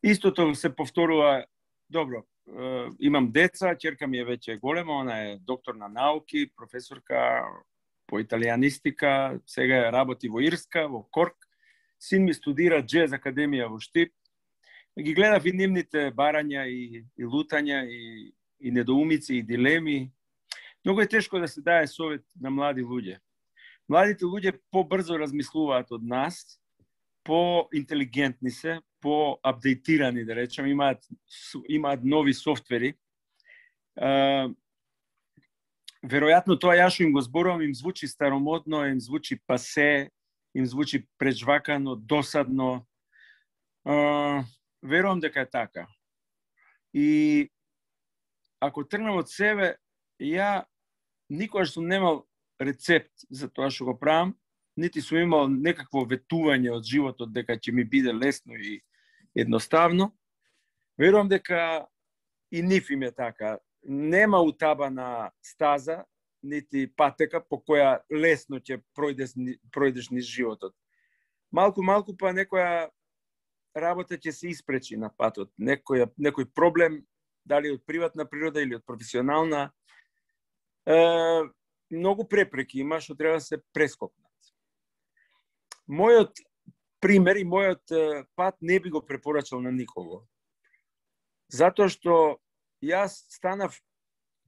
Истото се повторува, добро, е, имам деца, ќерка ми е веќе голема, она е доктор на науки, професорка по италијанистика, сега работи во Ирска, во Корк. Син ми студира джез академија во Штип. Ги гледав и нивните барања и, и лутања и, и недоумици и дилеми. Многу е тешко да се даде совет на млади луѓе. Младите луѓе побрзо размислуваат од нас, по-интелигентни се, по-апдейтирани, да речем, имаат, имаат нови софтвери. Uh, веројатно тоа ја што им го зборувам им звучи старомодно, им звучи пасе, им звучи прежвакано, досадно. Uh, верувам дека е така. И ако тргнем од себе, ја никогаш сум немал рецепт за тоа што го правам, нити сум имал некакво ветување од животот дека ќе ми биде лесно и едноставно. Верувам дека и нив им е така. Нема утабана стаза, нити патека по која лесно ќе пројдеш, пројдеш низ животот. Малку-малку па некоја работа ќе се испречи на патот. Некој, некој проблем, дали од приватна природа или од професионална, е, многу препреки има што треба да се прескокнат. Мојот пример и мојот пат не би го препорачал на никого. Затоа што јас станав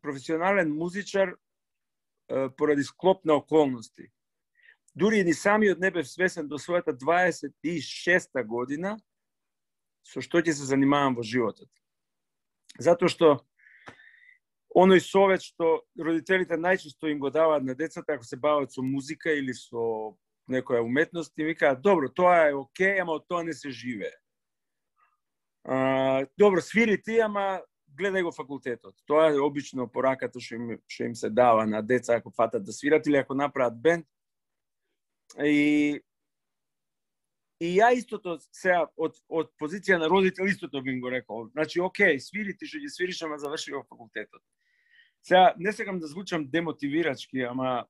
професионален музичар е, поради склоп на околности. Дури и ни самиот не бев свесен до својата дваесет и шеста година со што ќе се занимавам во животот. Затоа што оној совет што родителите најчесто им го даваат на децата ако се бават со музика или со некоја уметност и ми кажа, добро, тоа е окей, ама од тоа не се живее. А, добро, свири ти, ама гледај го факултетот. Тоа е обично пораката што им, што им се дава на деца ако фатат да свират или ако направат бенд. И И ја истото сега од од позиција на родител истото би им го рекол. Значи, окей, свири ти што ги свириш, ама заврши во факултетот. Сега не сакам да звучам демотивирачки, ама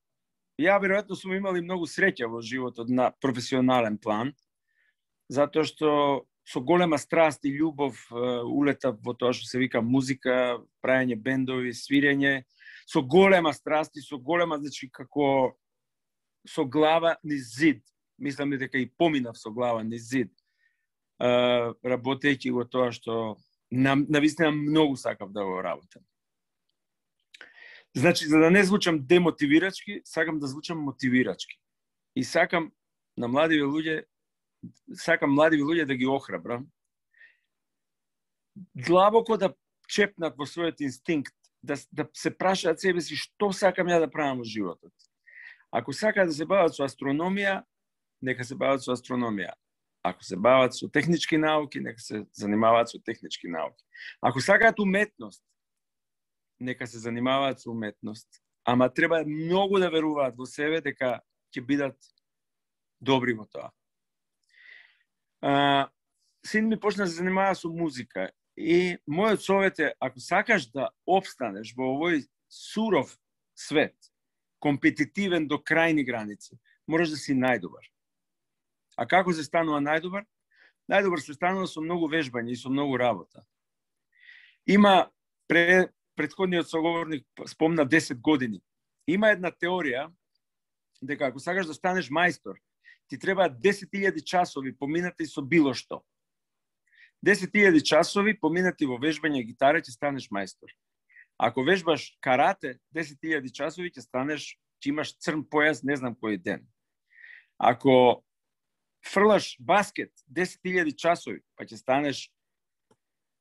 ја веројатно сум имал и многу среќа во животот на професионален план, затоа што со голема страст и љубов улетав во тоа што се вика музика, правење бендови, свирење, со голема страст и со голема, значи како со глава низ зид. Мислам дека и поминав со глава низ зид, работејќи го тоа што навистина многу сакав да го работам. Значи, за да не звучам демотивирачки, сакам да звучам мотивирачки. И сакам на млади луѓе, сакам млади луѓе да ги охрабрам, длабоко да чепнат во својот инстинкт, да, да се прашаат себе си што сакам ја да правам во животот. Ако сакаат да се бават со астрономија, нека се бават со астрономија. Ако се бават со технички науки, нека се занимаваат со технички науки. Ако сакаат уметност, нека се занимаваат со уметност. Ама треба многу да веруваат во себе дека ќе бидат добри во тоа. А, син ми почна да се занимава со музика и мојот совет е, ако сакаш да опстанеш во овој суров свет, компетитивен до крајни граници, можеш да си најдобар. А како се станува најдобар? Најдобар се станува со многу вежбање и со многу работа. Има, пре, претходниот соговорник спомна десет години. Има една теорија дека ако сакаш да станеш мајстор, ти треба десет илјади часови поминати со било што. десет илјади часови поминати во вежбање гитара ќе станеш мајстор. Ако вежбаш карате, десет илјади часови ќе станеш, ќе имаш црн појас не знам кој ден. Ако фрлаш баскет, десет илјади часови, па ќе станеш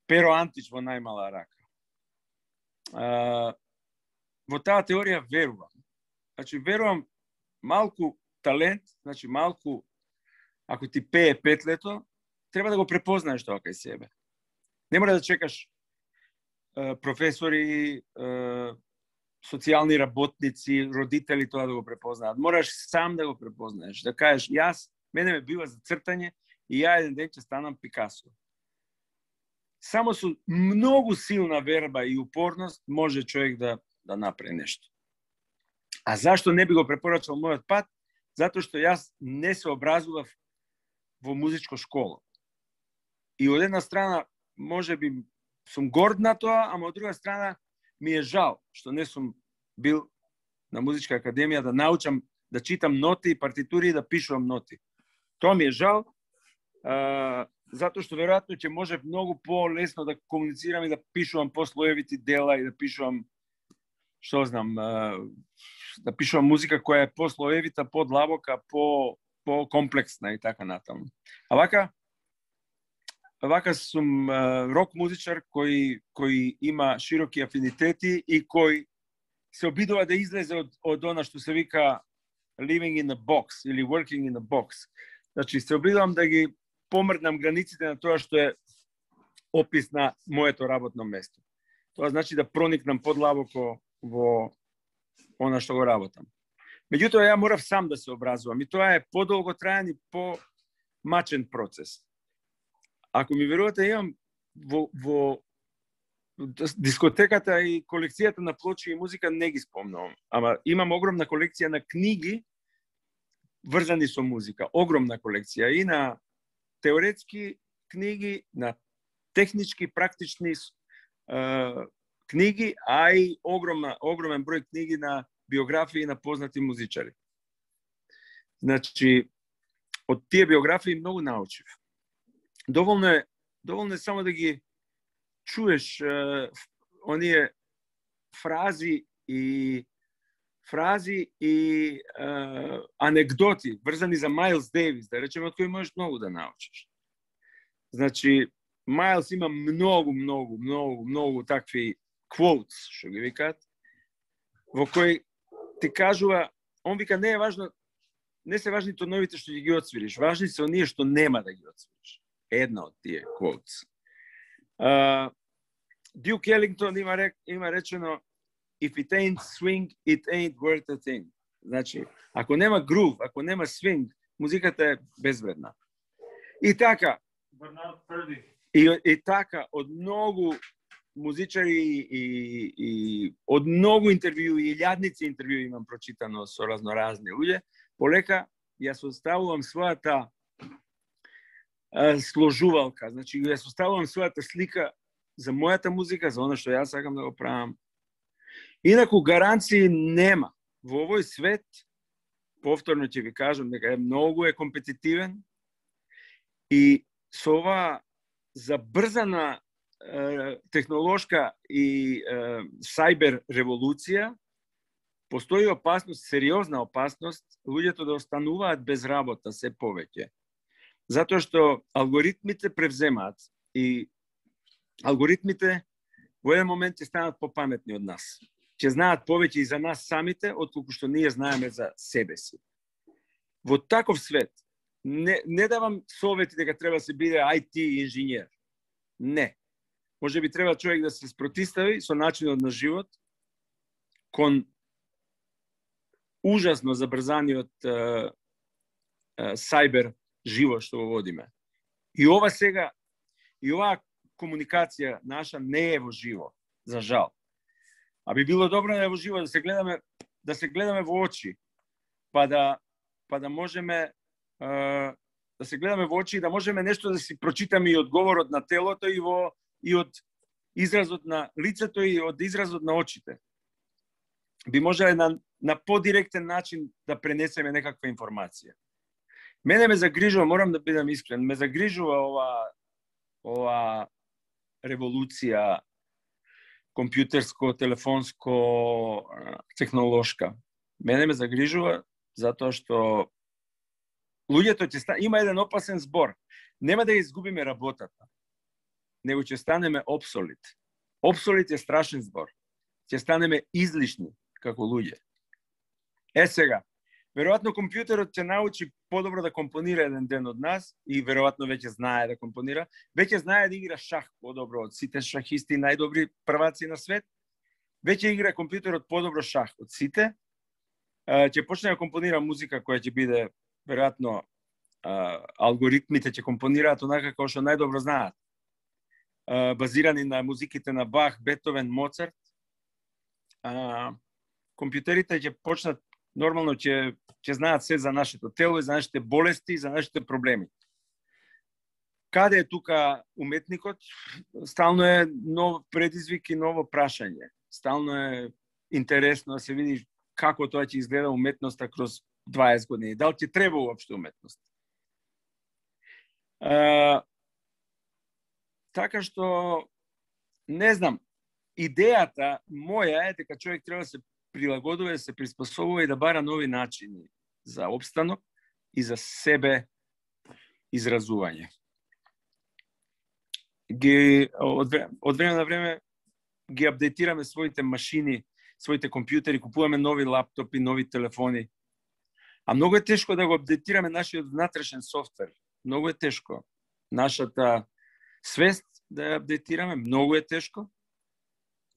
Перо Антич во најмала рака. А, во таа теорија верувам. Значи, верувам малку талент, значи малку, ако ти пее петлето, треба да го препознаеш тоа кај себе. Не мора да чекаш е, професори, е, социјални работници, родители тоа да го препознаат. Мораш сам да го препознаеш, да кажеш, јас, мене ме бива за цртање и ја еден ден ќе станам Пикасо. Само со многу силна верба и упорност може човек да, да направи нешто. А зашто не би го препорачал мојот пат? Затоа што јас не се образував во музичко школа. И од една страна, може би, сум горд на тоа, ама од друга страна, ми е жал што не сум бил на музичка академија да научам да читам ноти и партитури и да пишувам ноти. Тоа ми е жал, а, затоа што веројатно ќе може многу по-лесно да комуницирам и да пишувам послоевити дела и да пишувам, што знам, а, да пишувам музика која е послоевита, подлабока, по по-комплексна и така натаму. А вака, вака сум а, рок музичар кој кој има широки афинитети и кој се обидува да излезе од од она што се вика living in a box или working in a box. Значи се обидувам да ги помрднам границите на тоа што е опис на моето работно место. Тоа значи да проникнам подлабоко во она што го работам. Меѓутоа, ја морав сам да се образувам и тоа е подолготраен и помачен процес. Ако ми верувате, имам во, во дискотеката и колекцијата на плочи и музика не ги спомнувам, ама имам огромна колекција на книги врзани со музика, огромна колекција и на теоретски книги, на технички, практични е, книги, а и огромна, огромен број книги на биографии на познати музичари. Значи, од тие биографии многу научив. Доволно е, доволно е само да ги чуеш е, оние фрази и фрази и е, анекдоти врзани за Майлс Дейвис, да речеме, од кои можеш многу да научиш. Значи, Майлс има многу, многу, многу, многу такви quotes, што ги викаат, во кои ти кажува, он вика, не е важно не се важни тоновите што ги отсвириш, важни се оние што нема да ги отсвириш. Една од тие quotes. Uh, Duke Ellington има, рек, има речено if it ain't swing, it ain't worth a thing. Значи, ако нема грув, ако нема свинг, музиката е безвредна. И така, и, и така, од многу музичари и, и од многу интервју и илјадници интервју имам прочитано со разноразни луѓе, полека ја составувам својата а, сложувалка, значи ја составувам својата слика за мојата музика, за оно што јас сакам да го правам. Инаку гаранции нема. Во овој свет, повторно ќе ви кажам, дека е многу е компетитивен и со ова забрзана е, технолошка и е, сайбер револуција постои опасност, сериозна опасност, луѓето да остануваат без работа се повеќе. Затоа што алгоритмите превземаат и алгоритмите во еден момент ќе станат попаметни од нас. Ќе знаат повеќе и за нас самите, отколку што ние знаеме за себе си. Во таков свет, не, не давам совети дека треба се биде ай ти инженер. Не. Може би треба човек да се спротистави со начинот на живот кон ужасно забрзаниот е, е, сайбер живот што го водиме. И ова сега, и оваа комуникација наша не е во живо, за жал. А би било добро да е во живо, да се гледаме, да се гледаме во очи, па да, па да можеме е, да се гледаме во очи и да можеме нешто да си прочитаме и од говорот на телото и во и од изразот на лицето и од изразот на очите. Би можеле на на подиректен начин да пренесеме некаква информација. Мене ме загрижува, морам да бидам искрен, ме загрижува ова ова револуција компјутерско, телефонско, технолошка. Мене ме загрижува затоа што луѓето ќе ста... има еден опасен збор. Нема да изгубиме работата, него ќе станеме обсолит. Обсолит е страшен збор. Ќе станеме излишни како луѓе. Е сега, веројатно компјутерот ќе научи подобро да компонира еден ден од нас и веројатно веќе знае да компонира, веќе знае да игра шах подобро од сите шахисти, најдобри прваци на свет. Веќе игра компјутерот подобро шах од сите. Ќе почне да компонира музика која ќе биде веројатно алгоритмите ќе компонираат онака како што најдобро знаат. Базирани на музиките на Бах, Бетовен, Моцарт. Компјутерите ќе почнат нормално ќе ќе знаат се за нашето тело и за нашите болести и за нашите проблеми. Каде е тука уметникот? Стално е нов предизвик и ново прашање. Стално е интересно да се види како тоа ќе изгледа уметноста кроз дваесет години. Дали ќе треба уопште уметност? А, така што не знам, идејата моја е дека човек треба да се прилагодува, да се приспособува и да бара нови начини за опстанок и за себе изразување. Ги, од, од време на време ги апдейтираме своите машини, своите компјутери, купуваме нови лаптопи, нови телефони. А многу е тешко да го апдейтираме нашиот внатрешен софтвер. Многу е тешко. Нашата свест да ја апдейтираме, многу е тешко.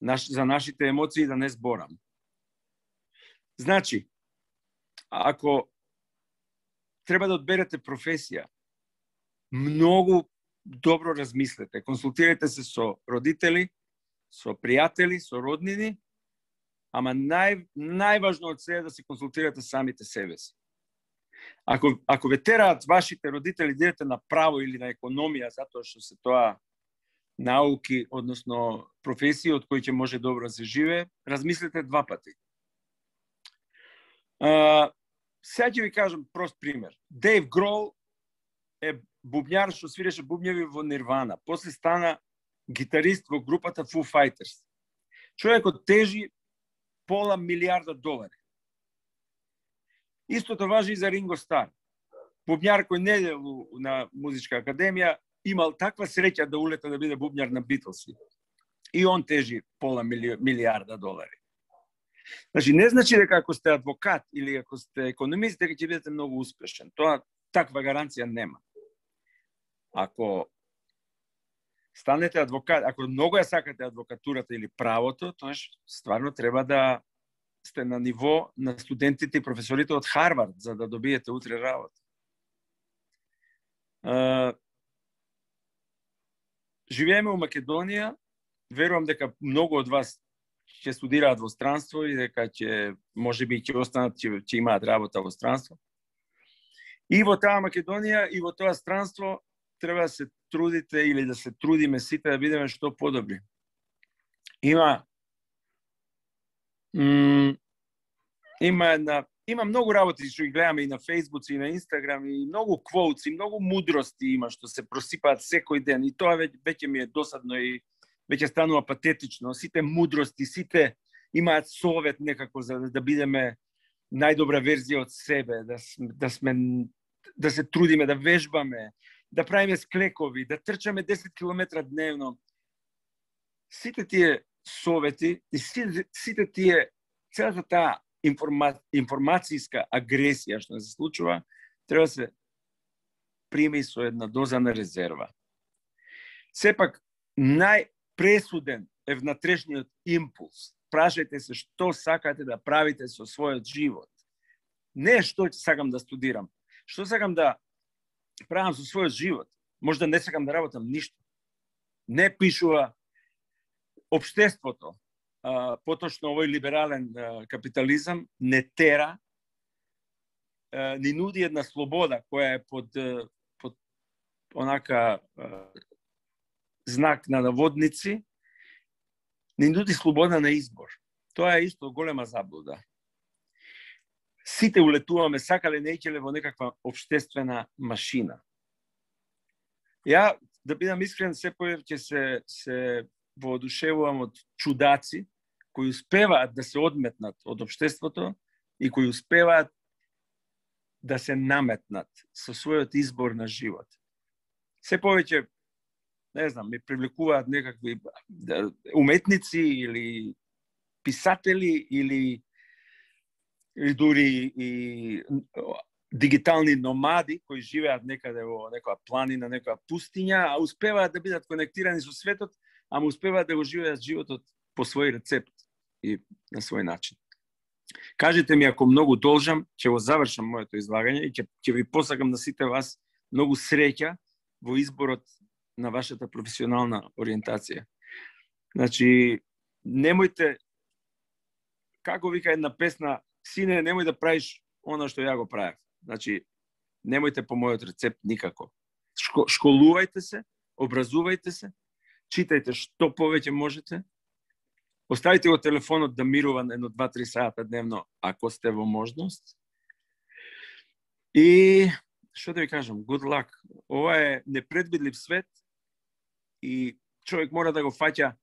Наш, за нашите емоции да не зборам. Значи, ако треба да одберете професија, многу добро размислете, консултирайте се со родители, со пријатели, со роднини, ама нај, најважно од се е да се консултирате самите себе си. Ако, ако ве тераат вашите родители да идете на право или на економија, затоа што се тоа науки, односно професија од кои ќе може добро да се живее, размислете два пати. Uh, сега ќе ви кажам прост пример. Дейв Грол е бубњар што свиреше бубњеви во Нирвана. После стана гитарист во групата Foo Fighters. Човекот тежи пола милиарда долари. Истото важи и за Ринго Стар. Бубњар кој не е на музичка академија, имал таква среќа да улета да биде бубњар на Битлси. И он тежи пола мили... милиарда долари. Значи, не значи дека ако сте адвокат или ако сте економист, дека ќе бидете многу успешен. Тоа таква гаранција нема. Ако станете адвокат, ако многу ја сакате адвокатурата или правото, тоа стварно треба да сте на ниво на студентите и професорите од Харвард за да добиете утре работа. Uh, живееме во Македонија, верувам дека многу од вас ќе студираат во странство и дека ќе можеби ќе останат, ќе, ќе имаат работа во странство. И во таа Македонија и во тоа странство треба да се трудите или да се трудиме сите да бидеме што подобри. Има м, има една Има многу работи што ги гледаме и на Facebook, и на Instagram, и многу quotes, и многу мудрости има што се просипаат секој ден. И тоа веќе, веќе ми е досадно и веќе станува патетично. Сите мудрости, сите имаат совет некако за да бидеме најдобра верзија од себе, да, да сме да се трудиме, да вежбаме, да правиме склекови, да трчаме десет километра дневно. Сите тие совети и сите, сите тие целата таа Информа... информацијска агресија што се случува, треба да се прими со една доза на резерва. Сепак, најпресуден е внатрешниот импулс. Прашајте се што сакате да правите со својот живот. Не што сакам да студирам, што сакам да правам со својот живот. Можда не сакам да работам ништо. Не пишува општеството. Uh, поточно овој либерален uh, капитализам не тера, uh, ни нуди една слобода која е под, uh, под онака uh, знак на наводници, ни нуди слобода на избор. Тоа е исто голема заблуда. Сите улетуваме, сакале не икеле во некаква општествена машина. Ја, да бидам искрен, се повеќе се, се воодушевувам од чудаци кои успеваат да се одметнат од општеството и кои успеваат да се наметнат со својот избор на живот. Се повеќе, не знам, ми привлекуваат некакви уметници или писатели или, или дури и дигитални номади кои живеат некаде во некоја планина, некоја пустиња, а успеваат да бидат конектирани со светот, ама успеваат да го живеат животот по свој рецепт и на свој начин. Кажете ми ако многу должам, ќе го завршам моето излагање и ќе, ќе ви посакам на сите вас многу среќа во изборот на вашата професионална ориентација. Значи, немојте, како вика една песна, сине, немој да правиш она што ја го правев. Значи, немојте по мојот рецепт никако. Шко, школувајте се, образувајте се, читајте што повеќе можете, оставите го телефонот да мирува едно два-три сата дневно, ако сте во можност. И, што да ви кажам, good luck. Ова е непредвидлив свет и човек мора да го фаќа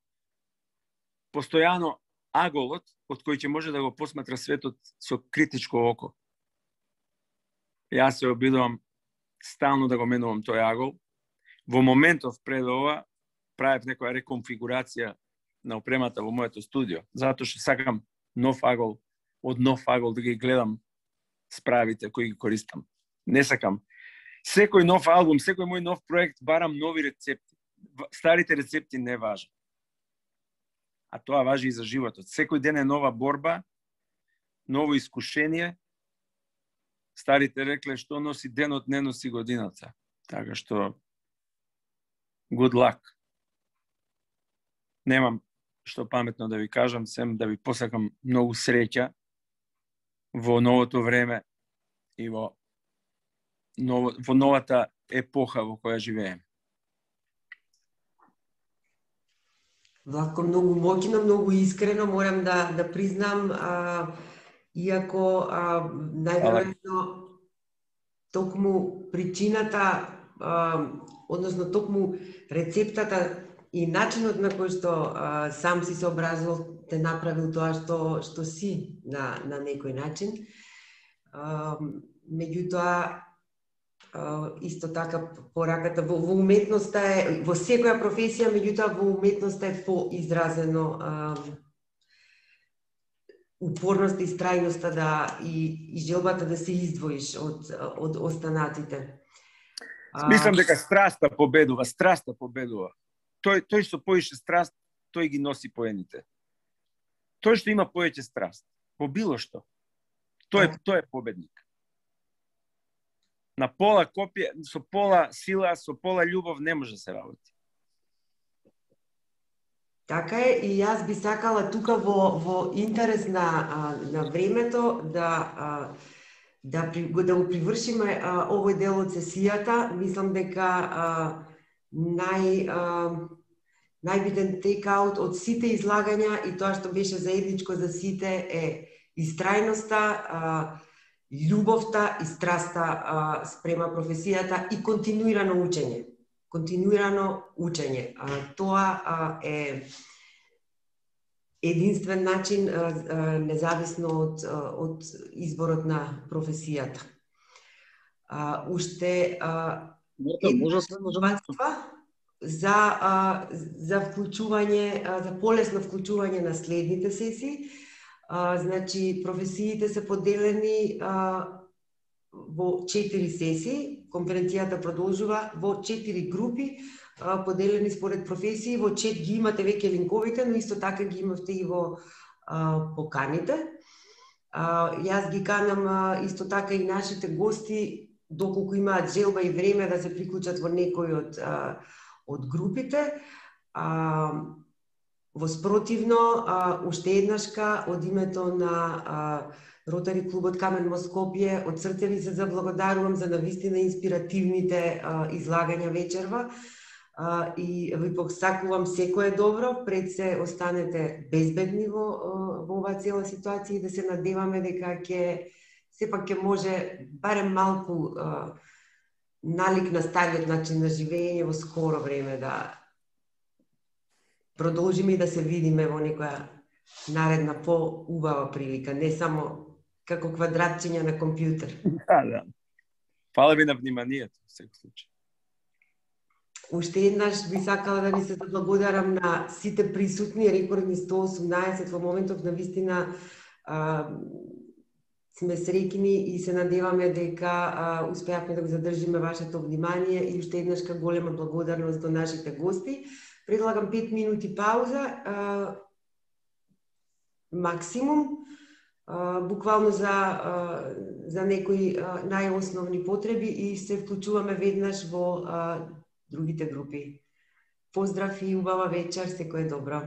постојано аголот, од кој ќе може да го посматра светот со критичко око. Јас се обидувам стално да го менувам тој агол. Во моментов пред ова, правев некоја реконфигурација на опремата во моето студио, затоа што сакам нов агол, од нов агол да ги гледам справите кои ги користам. Не сакам. Секој нов албум, секој мој нов проект барам нови рецепти. Старите рецепти не важат. А тоа важи и за животот. Секој ден е нова борба, ново искушение. Старите рекле што носи денот, не носи годината. Така што good luck. Немам што паметно да ви кажам, сем да ви посакам многу среќа во новото време и во, ново, во новата епоха во која живееме. Вако многу моќно, многу искрено морам да да признам, а, иако а, најверојатно токму причината, а, односно токму рецептата и начинот на кој што а, сам си се образувал те направил тоа што што си на на некој начин. А, меѓутоа исто така пораката во, во уметноста е во секоја професија, меѓутоа во уметноста е поизразено а, упорноста и страјноста да и, и желбата да се издвоиш од од останатите. Мислам дека страста победува, страста победува. Тој тој што поише страст, тој ги носи поените. Тој што има повеќе страст, по било што, тој е тој е победник. На пола копија, со пола сила, со пола љубов не може да се работи. Така е, и јас би сакала тука во во интерес на на времето да да да го привршиме овој дел од сесијата. Мислам дека нај најбитен тейкаут од сите излагања и тоа што беше заедничко за сите е истрајноста, љубовта и страста спрема професијата и континуирано учење. Континуирано учење. Тоа е единствен начин, независно од, од изборот на професијата. Уште една мотивација за, за вклучување, за полесно вклучување на следните сесии. Значи, професиите се поделени во четири сесии. Конференцијата продолжува во четири групи, поделени според професии. Во чет ги имате веќе линковите, но исто така ги имавте и во поканите. Јас ги канам исто така и нашите гости, доколку имаат желба и време да се приклучат во некој од, од групите. Воспротивно, уште еднашка од името на Ротари клубот Камен мост Скопје, од срце ви се заблагодарувам за навистина инспиративните излагања вечерва и ви посакувам секое добро, пред се останете безбедни во, во оваа цела ситуација и да се надеваме дека ќе сепак ќе може барем малку налик на стариот начин на живење во скоро време да продолжиме и да се видиме во некоја наредна по-убава прилика, не само како квадратчиња на компјутер. Да, да. Фала ви на вниманието, во секој случај. Уште еднаш би сакала да ви се заблагодарам на сите присутни, рекордни сто осумнаесет во моментов, на вистина а, сме среќни и се надеваме дека а, успеавме да го задржиме вашето внимание и уште еднашка голема благодарност до нашите гости. Предлагам пет минути пауза, а, максимум, а, буквално за, а, за некои а, најосновни потреби и се вклучуваме веднаш во а, другите групи. Поздрав и убава вечер, секое добро.